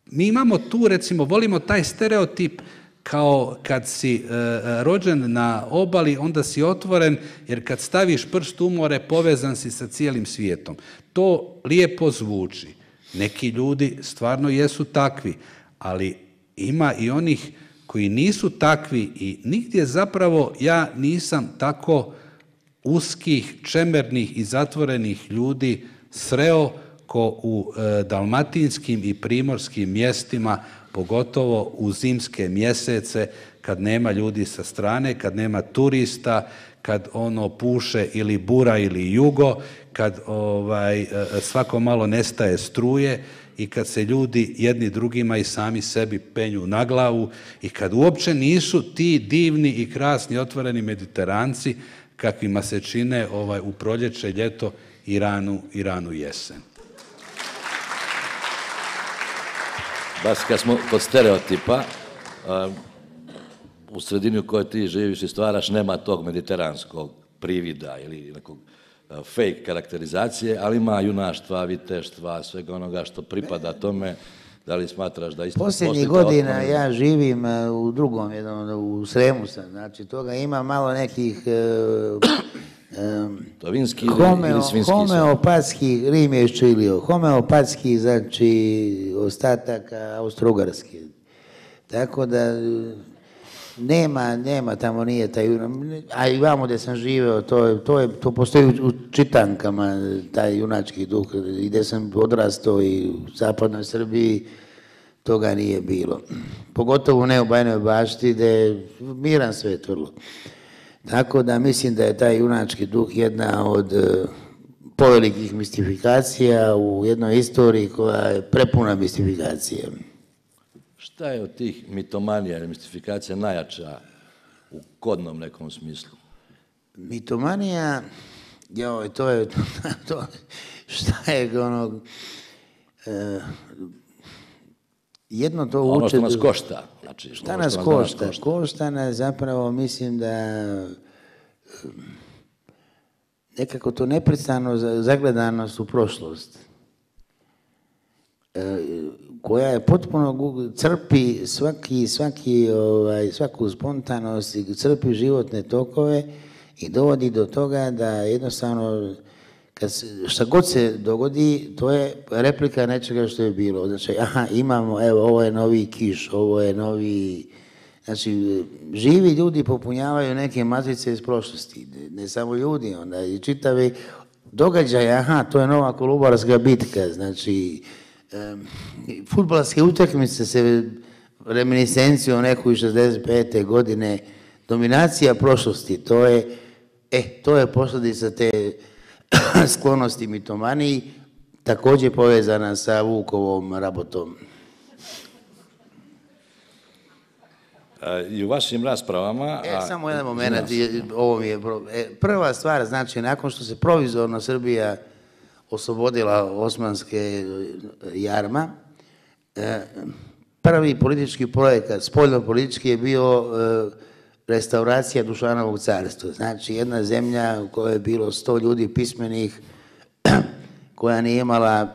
Mi imamo tu, recimo, volimo taj stereotip kao kad si rođen na obali, onda si otvoren, jer kad staviš prst u more, povezan si sa cijelim svijetom. To lijepo zvuči. Neki ljudi stvarno jesu takvi, ali ima i onih koji nisu takvi i nigdje zapravo ja nisam tako uskih, čemernih i zatvorenih ljudi sreo ko u e, dalmatinskim i primorskim mjestima, pogotovo u zimske mjesece, kad nema ljudi sa strane, kad nema turista, kad ono puše ili bura ili jugo, kad ovaj, svako malo nestaje struje i kad se ljudi jedni drugima i sami sebi penju na glavu i kad uopće nisu ti divni i krasni otvoreni Mediteranci kakvima se čine ovaj, u proljeće, ljeto i ranu, i ranu jesen. Baš kad smo kod stereotipa, u sredini u kojoj ti živiš i stvaraš nema tog mediteranskog privida ili nekog fake karakterizacije, ali ima junaštva, viteštva, svega onoga što pripada tome. Da li smatraš da isto... Posljednjih godina otvoreno... ja živim u drugom, jednom, u Sremu sam, znači toga ima malo nekih um, to vinski homeo, ili svinski? Homeopatski, Rim je iščilio, homeopatski, znači ostataka Austro-Ugarske. Tako da nema, nema, tamo nije taj, a i vamo gdje sam živeo, to, to, je, to postoji u čitankama, taj junački duh, i gdje sam odrastao i u zapadnoj Srbiji, toga nije bilo. Pogotovo ne u Bajnoj Bašti, gdje je miran svet vrlo. Tako da mislim da je taj junački duh jedna od uh, povelikih mistifikacija u jednoj istoriji koja je prepuna mistifikacije. Šta je od tih mitomanija ili mistifikacija najjača u kodnom nekom smislu? Mitomanija, joj, to je, to, šta je ono, e, jedno to uče... Ono što nas košta. Znači, šta nas što košta? Nas košta? Košta nas zapravo, mislim da nekako to neprestano zagledanost u prošlost. E, koja je potpuno crpi svaki, svaki, ovaj, svaku spontanost i crpi životne tokove i dovodi do toga da jednostavno kad se, šta god se dogodi, to je replika nečega što je bilo. Znači, aha, imamo, evo, ovo je novi Kiš, ovo je novi... Znači, živi ljudi popunjavaju neke matrice iz prošlosti, ne samo ljudi, onda i čitavi događaje, aha, to je nova Kolubarska bitka, znači... Um, fudbalske utakmice se reminiscencijom neku iz šezdeset pete godine, dominacija prošlosti, to je, e, to je posljedica te sklonosti mitomaniji, također povezana sa Vukovom rabotom. I u vašim raspravama... E, a, samo jedan moment, ovo mi je... E, prva stvar, znači, nakon što se provizorno Srbija oslobodila osmanske jarma, prvi politički projekat, spoljno-politički je bio restauracija Dušanovog carstva. Znači, jedna zemlja u kojoj je bilo sto ljudi pismenih, koja nije imala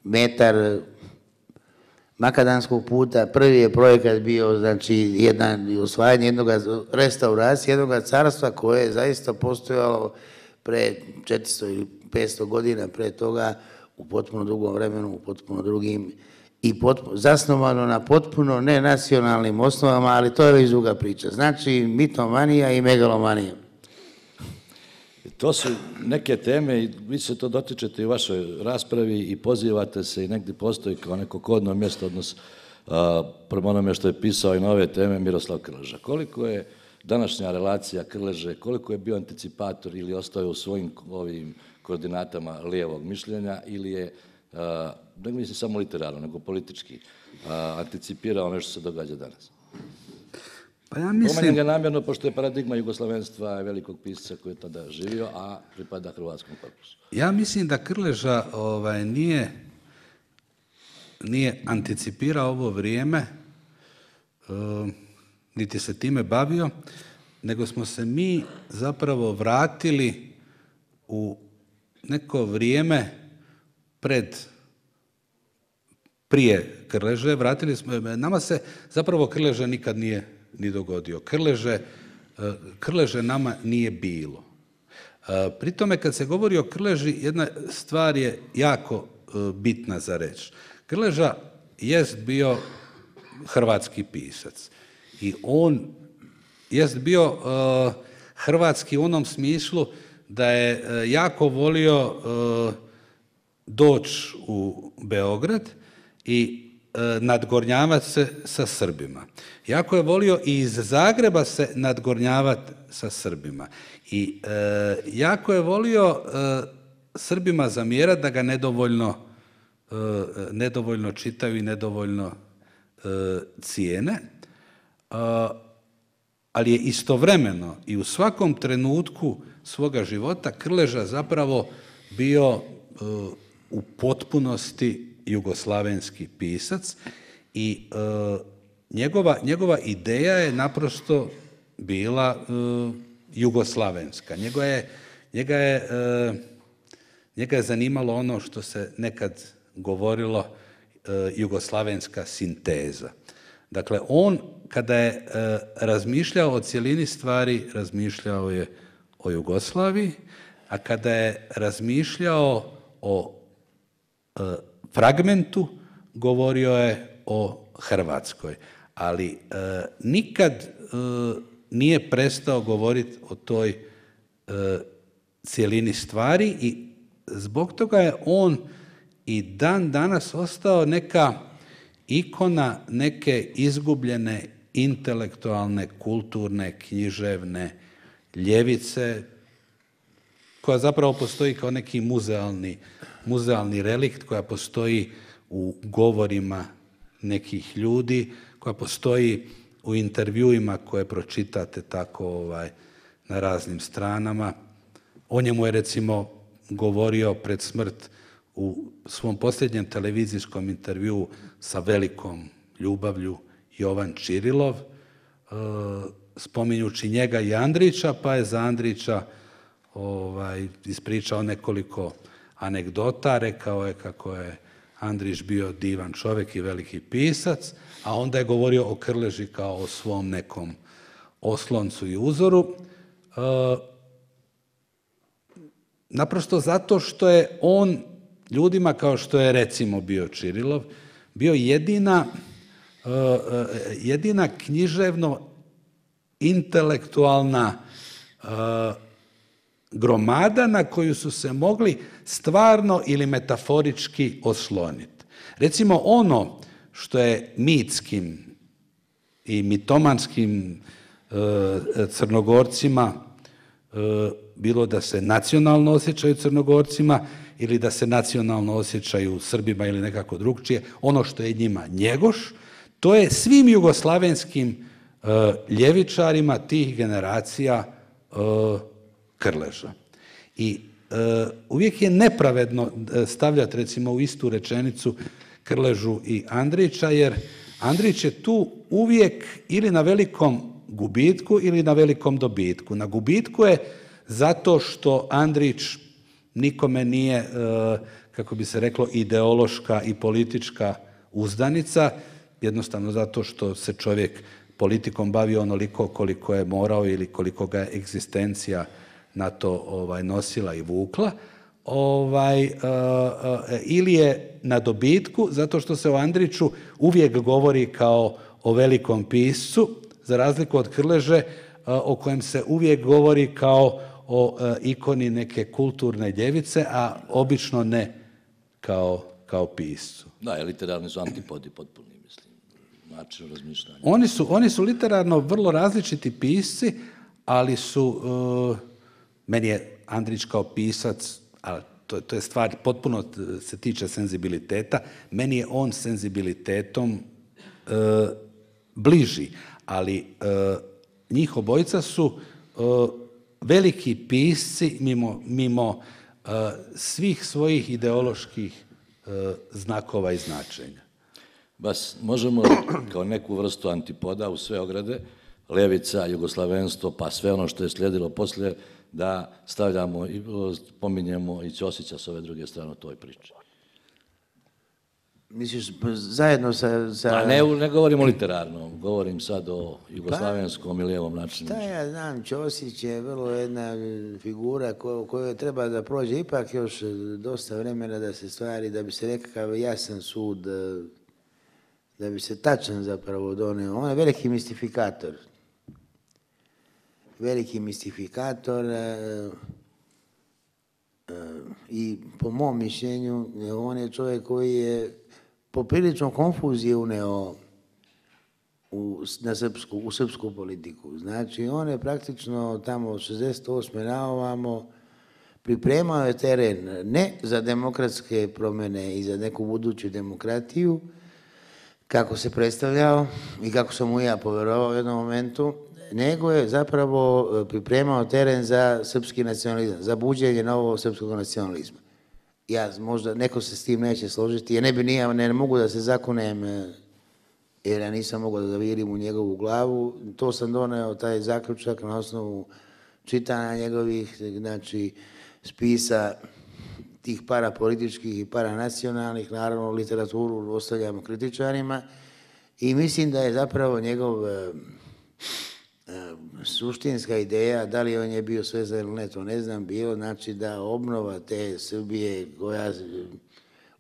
metar makadanskog puta. Prvi je projekat bio, znači, jedan, osvajanje jednog, restauracije jednog carstva koje je zaista postojalo pre četiristo ili petsto godina pre toga, u potpuno drugom vremenu, u potpuno drugim, i potpuno, zasnovano na potpuno nenacionalnim osnovama, ali to je već druga priča. Znači, mitomanija i megalomanija. To su neke teme i vi se to dotičete i u vašoj raspravi i pozivate se i negdje postoji kao neko kodno mjesto, odnos prema onome što je pisao i na ove teme Miroslav Krleža. Koliko je današnja relacija Krleže, koliko je bio anticipator ili ostao u svojim ovim koordinatama lijevog mišljenja ili je, ne mislim samo literarno, nego politički, anticipirao nešto što se događa danas? Pa ja mislim... Pomenem ga namjerno, pošto je paradigma jugoslavenstva velikog pisca koji je tada živio, a pripada hrvatskom korpusu. Ja mislim da Krleža ovaj, nije, nije anticipirao ovo vrijeme, uh, niti se time bavio, nego smo se mi zapravo vratili u neko vrijeme pred, prije Krleže, vratili smo, nama se zapravo Krleža nikad nije ni dogodio. Krleže, Krleže nama nije bilo. Pri tome kad se govori o Krleži, jedna stvar je jako bitna za reći. Krleža jest bio hrvatski pisac i on jest bio uh, hrvatski u onom smislu da je uh, jako volio uh, doći u Beograd i uh, nadgornjavati se sa Srbima. Jako je volio i iz Zagreba se nadgornjavati sa Srbima. I uh, jako je volio uh, Srbima zamjerati da ga nedovoljno nedovoljno čitaju i nedovoljno cijene, ali je istovremeno i u svakom trenutku svoga života Krleža zapravo bio u potpunosti jugoslavenski pisac i njegova, njegova ideja je naprosto bila jugoslavenska. Njega je, njega je, njega je zanimalo ono što se nekad govorilo jugoslavenska sinteza. Dakle, on kada je razmišljao o cjelini stvari, razmišljao je o Jugoslaviji, a kada je razmišljao o fragmentu, govorio je o Hrvatskoj. Ali nikad nije prestao govoriti o toj cjelini stvari i zbog toga je on i dan danas ostao neka ikona neke izgubljene intelektualne, kulturne, književne ljevice, koja zapravo postoji kao neki muzealni, muzealni relikt, koja postoji u govorima nekih ljudi, koja postoji u intervjuima koje pročitate tako ovaj, na raznim stranama. O njemu je recimo govorio pred smrt u svom posljednjem televizijskom intervjuu sa velikom ljubavlju Jovan Čirilov, spominjući njega i Andrića, pa je za Andrića ovaj, ispričao nekoliko anegdota, rekao je kako je Andrić bio divan čovjek i veliki pisac, a onda je govorio o Krleži kao o svom nekom osloncu i uzoru. Naprosto zato što je on ljudima kao što je recimo bio Čirilov, bio jedina, jedina književno intelektualna gromada na koju su se mogli stvarno ili metaforički osloniti. Recimo ono što je mitskim i mitomanskim Crnogorcima, bilo da se nacionalno osjećaju Crnogorcima ili da se nacionalno osjećaju Srbima ili nekako drugčije, ono što je njima Njegoš, to je svim jugoslavenskim ljevičarima tih generacija Krleža. I uvijek je nepravedno stavljati recimo u istu rečenicu Krležu i Andrića, jer Andrić je tu uvijek ili na velikom gubitku ili na velikom dobitku. Na gubitku je zato što Andrić nikome nije, kako bi se reklo, ideološka i politička uzdanica, jednostavno zato što se čovjek politikom bavio onoliko koliko je morao ili koliko ga je egzistencija na to ovaj, nosila i vukla, ovaj, uh, uh, ili je na dobitku zato što se o Andriću uvijek govori kao o velikom piscu, za razliku od Krleže, uh, o kojem se uvijek govori kao o uh, ikoni neke kulturne ljevice, a obično ne kao, kao piscu. Da, literarni su antipodi potpuni, mislim, način razmišljanja. Oni su, oni su literarno vrlo različiti pisci, ali su, uh, meni je Andrić kao pisac, ali to, to je stvar potpuno se tiče senzibiliteta, meni je on senzibilitetom uh, bliži, ali uh, njih obojica su uh, veliki pisci mimo, mimo uh, svih svojih ideoloških uh, znakova i značenja. Bas, možemo kao neku vrstu antipoda u sve ograde, levica, jugoslavenstvo, pa sve ono što je slijedilo poslije, da stavljamo i pominjemo i Ćosića s ove druge strane u toj priči. Misliš, zajedno sa... sa... A ne, ne govorim o literarno, govorim sad o jugoslavenskom pa, i lijevom načinu. Šta ja znam, Ćosić je vrlo jedna figura koju, koju treba da prođe ipak još dosta vremena da se stvari, da bi se nekakav jasan sud, da bi se tačan zapravo donio. On je veliki mistifikator. Veliki mistifikator i po mom mišljenju on je čovjek koji je poprilično konfuzije uneo u, na srpsku, u srpsku politiku. Znači on je praktično tamo od šezdeset osme na ovamo pripremao je teren ne za demokratske promjene i za neku buduću demokratiju, kako se predstavljao i kako sam mu ja poverovao u jednom momentu, nego je zapravo pripremao teren za srpski nacionalizam, za buđenje novog srpskog nacionalizma. Ja, možda, neko se s tim neće složiti, ja ne bi nije, ne mogu da se zakunem, jer ja nisam mogao da zavirim u njegovu glavu, to sam doneo, taj zaključak, na osnovu čitanja njegovih, znači, spisa tih parapolitičkih i paranacionalnih, naravno literaturu ostavljamo kritičarima i mislim da je zapravo njegov e, e, suštinska ideja, da li on je bio svezan ili ne, to ne znam, bilo znači da obnova te Srbije koja,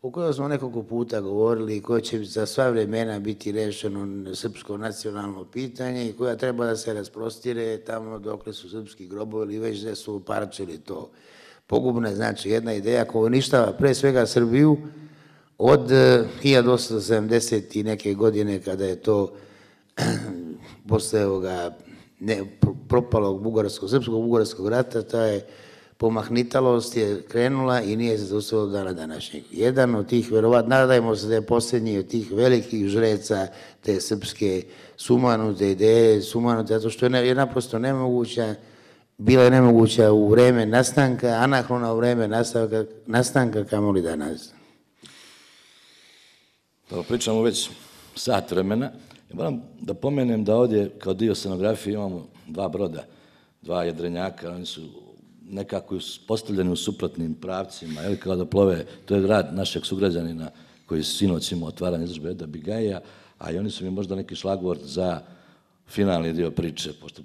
o kojoj smo nekoliko puta govorili, koja će za sva vremena biti rešeno srpsko nacionalno pitanje i koja treba da se rasprostire tamo dokle su srpski grobovi ili već da su uparčili to. Pogubna, znači, jedna ideja koja uništava pre svega Srbiju od hiljadu osamsto sedamdeset i neke godine kada je to posle ovoga ne, propalog bugarskog, srpskog bugarskog rata, ta je pomahnitalost je krenula i nije se zaustavilo do dana današnjeg. Jedan od tih, verovatno, nadajmo se da je posljednji od tih velikih žreca te srpske sumanute ideje, sumanute, zato što je naprosto nemoguća, bila je nemoguća u vreme nastanka, anahrona u vreme nastanka, nastanka kamoli danas. Pa pričamo već sat vremena. Ja moram da pomenem da ovdje kao dio scenografije imamo dva broda, dva jedrenjaka, oni su nekako postavljeni u suprotnim pravcima, ili kao da plove, to je rad našeg sugrađanina koji sinoć imao otvaranje izložbe Eda Bigaija, a i oni su mi možda neki šlagvort za finalni dio priče, pošto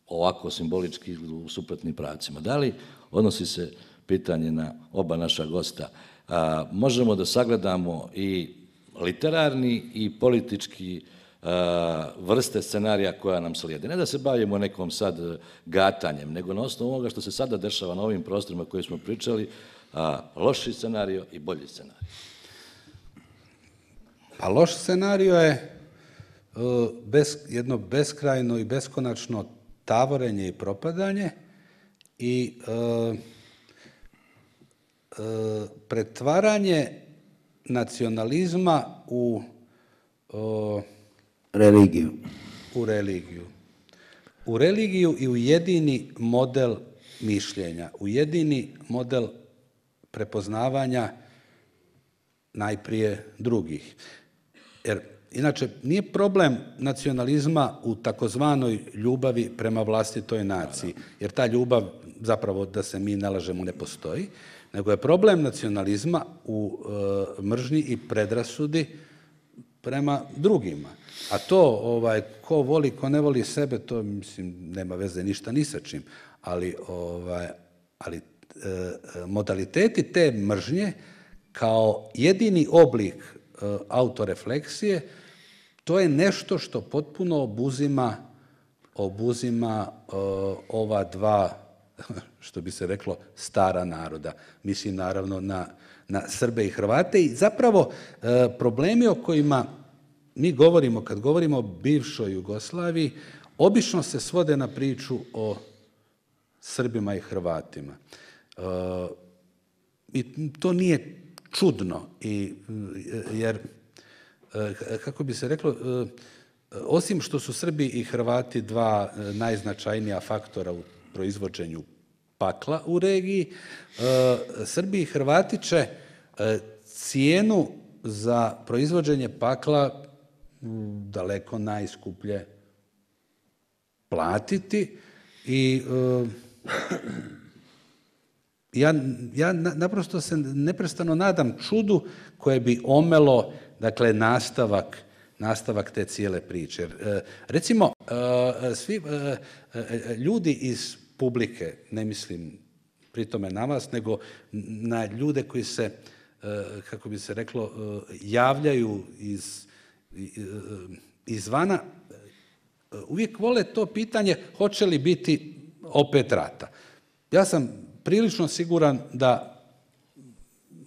ovako simbolički u suprotnim pravcima. Da li odnosi se pitanje na oba naša gosta? A, možemo da sagledamo i literarni i politički a, vrste scenarija koja nam slijede. Ne da se bavimo nekom sad gatanjem, nego na osnovu ovoga što se sada dešava na ovim prostorima koje smo pričali, a, loši scenario i bolji scenario. Pa loš scenario je uh, bez, jedno beskrajno i beskonačno tavorenje i propadanje i uh, uh, pretvaranje nacionalizma u uh, religiju. U religiju. U religiju i u jedini model mišljenja, u jedini model prepoznavanja najprije drugih. Jer inače, nije problem nacionalizma u takozvanoj ljubavi prema vlastitoj naciji, jer ta ljubav, zapravo da se mi ne lažemo, ne postoji, nego je problem nacionalizma u e, mržnji i predrasudi prema drugima. A to, ovaj, ko voli, ko ne voli sebe, to, mislim, nema veze ništa ni sa čim, ali, ovaj, ali e, modaliteti te mržnje kao jedini oblik e, autorefleksije, to je nešto što potpuno obuzima, obuzima e, ova dva, što bi se reklo, stara naroda. Mislim naravno na, na Srbe i Hrvate i zapravo e, problemi o kojima mi govorimo, kad govorimo o bivšoj Jugoslaviji, obično se svode na priču o Srbima i Hrvatima. E, I to nije čudno, i, jer, kako bi se reklo, osim što su Srbi i Hrvati dva najznačajnija faktora u proizvođenju pakla u regiji, Srbi i Hrvati će cijenu za proizvođenje pakla daleko najskuplje platiti i ja, ja naprosto se neprestano nadam čudu koje bi omelo, dakle, nastavak, nastavak te cijele priče. Jer, recimo, svi ljudi iz publike, ne mislim pri tome na vas, nego na ljude koji se, kako bi se reklo, javljaju iz, izvana, uvijek vole to pitanje hoće li biti opet rata. Ja sam prilično siguran da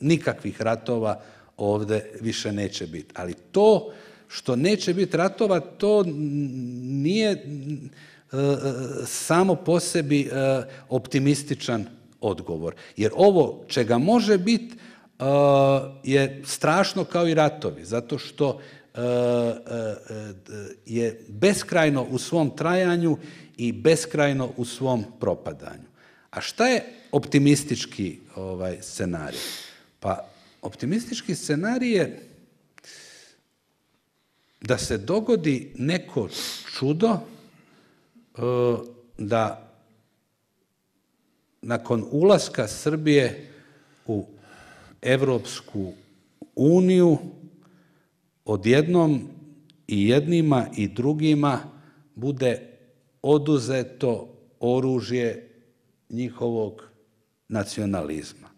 nikakvih ratova ovdje više neće biti. Ali to što neće biti ratova, to nije e, samo po sebi e, optimističan odgovor. Jer ovo čega može biti uh, je strašno kao i ratovi, zato što uh, uh, je beskrajno u svom trajanju i beskrajno u svom propadanju. A šta je optimistički ovaj, scenarij? Pa optimistički scenarij je da se dogodi neko čudo, da nakon ulaska Srbije u Evropsku uniju odjednom i jednima i drugima bude oduzeto oružje njihovog nacionalizma.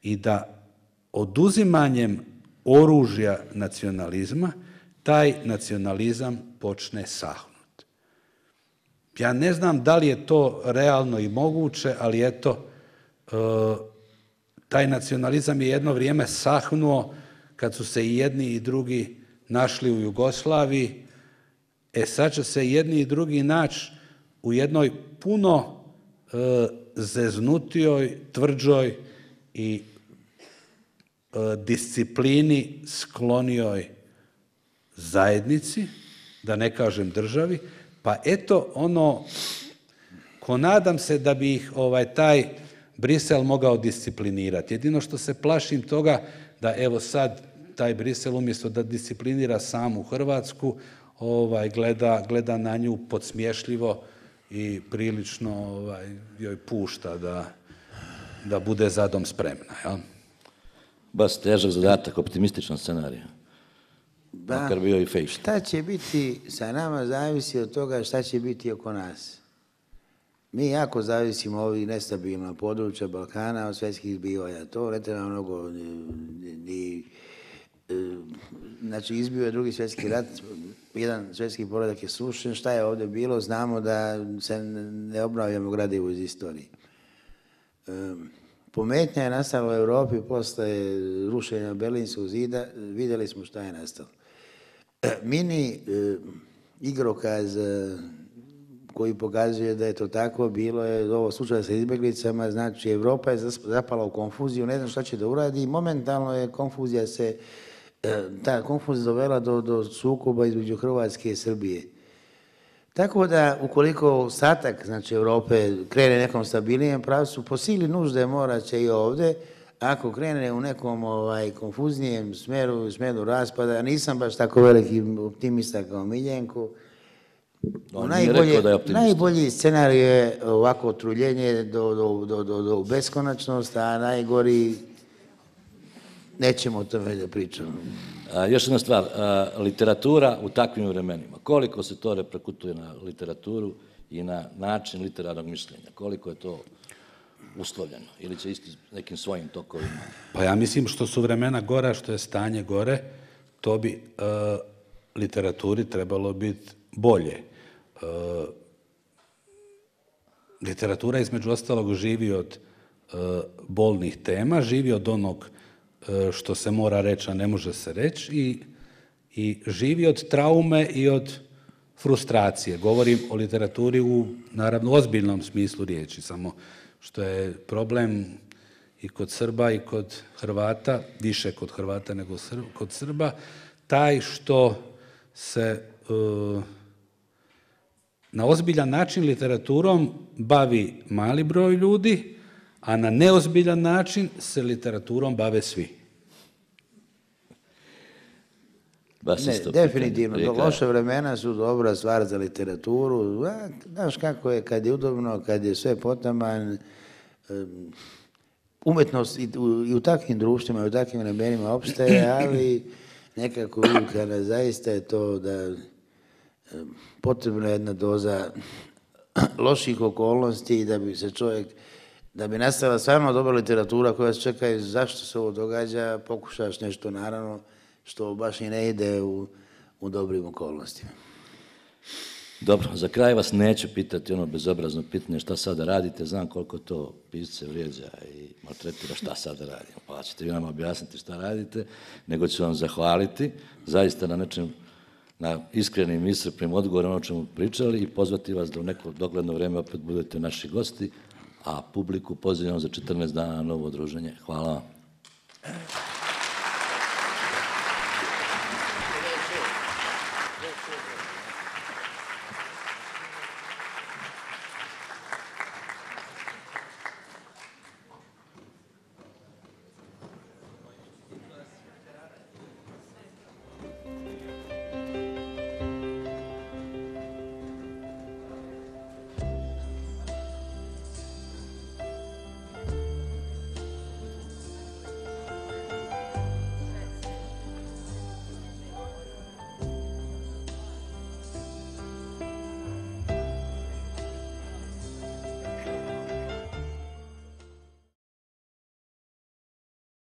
I da oduzimanjem oružja nacionalizma taj nacionalizam počne sahnuti. Ja ne znam da li je to realno i moguće, ali eto, taj nacionalizam je jedno vrijeme sahnuo kad su se i jedni i drugi našli u Jugoslaviji. E sad će se jedni i drugi naći u jednoj puno zeznutijoj, tvrđoj i disciplini sklonijoj zajednici, da ne kažem državi, pa eto ono, ko nadam se da bi ih ovaj, taj Brisel mogao disciplinirati. Jedino što se plašim toga da evo sad taj Brisel umjesto da disciplinira samu Hrvatsku, ovaj, gleda, gleda na nju podsmješljivo i prilično ovaj, joj pušta da, da bude zadom spremna. Jel? Baš težak zadatak, optimističan scenarij. Ba, makar bio i fake. Šta će biti sa nama zavisi od toga šta će biti oko nas. Mi jako zavisimo od ovih nestabilna područja Balkana, od svjetskih zbivanja. To ne treba mnogo ni, ni znači izbio je drugi svjetski rat, jedan svjetski poredak je srušen, šta je ovdje bilo, znamo da se ne obnavljamo gradivo iz istorije. Pometnja je nastala u Europi posle rušenja Berlinskog zida, vidjeli smo šta je nastalo. Mini igrokaz koji pokazuje da je to tako bilo, je ovo slučaj sa izbjeglicama, znači Evropa je zapala u konfuziju, ne znam šta će da uradi, momentalno je konfuzija se, ta konfuzija dovela do, do sukoba između Hrvatske i Srbije. Tako da, ukoliko ostatak, znači Evrope, krene nekom stabilnijem pravcu, po sili nužde mora će i ovdje, ako krene u nekom ovaj, konfuznijem smeru, smeru raspada, nisam baš tako veliki optimista kao Miljenko, No, najbolje, da najbolji scenarij je ovako truljenje do, do, do, do, do beskonačnost, a najgori nećemo o tome da pričamo. A, još jedna stvar, a, literatura u takvim vremenima, koliko se to reperkutuje na literaturu i na način literarnog mišljenja, koliko je to uslovljeno ili će isti nekim svojim tokovima? Pa ja mislim što su vremena gora, što je stanje gore, to bi a, literaturi trebalo biti bolje. Uh, literatura između ostalog živi od uh, bolnih tema, živi od onog uh, što se mora reći, a ne može se reći i, i živi od traume i od frustracije. Govorim o literaturi u, naravno, ozbiljnom smislu riječi, samo što je problem i kod Srba i kod Hrvata, više kod Hrvata nego kod Srba, taj što se uh, na ozbiljan način literaturom bavi mali broj ljudi, a na neozbiljan način se literaturom bave svi. Ne, definitivno, loše vremena su dobra stvar za literaturu. Znaš kako je, kad je udobno, kad je sve potaman, umetnost i u, i u takvim društvima, i u takvim vremenima opstaje, ali nekako kada zaista je to da potrebna je jedna doza loših okolnosti da bi se čovjek, da bi nastala stvarno dobra literatura koja se čeka zašto se ovo događa, pokušaš nešto naravno što baš i ne ide u, u dobrim okolnostima. Dobro, za kraj vas neću pitati ono bezobrazno pitanje šta sada radite, znam koliko to pisce vrijeđa i maltretira šta sada radimo, pa ćete vi nama objasniti šta radite, nego ću vam zahvaliti zaista na nečem, na iskrenim iscrpnim odgovorima o čemu pričali i pozvati vas da u neko dogledno vrijeme opet budete naši gosti, a publiku pozivam za četrnaest dana na novo druženje. Hvala vam.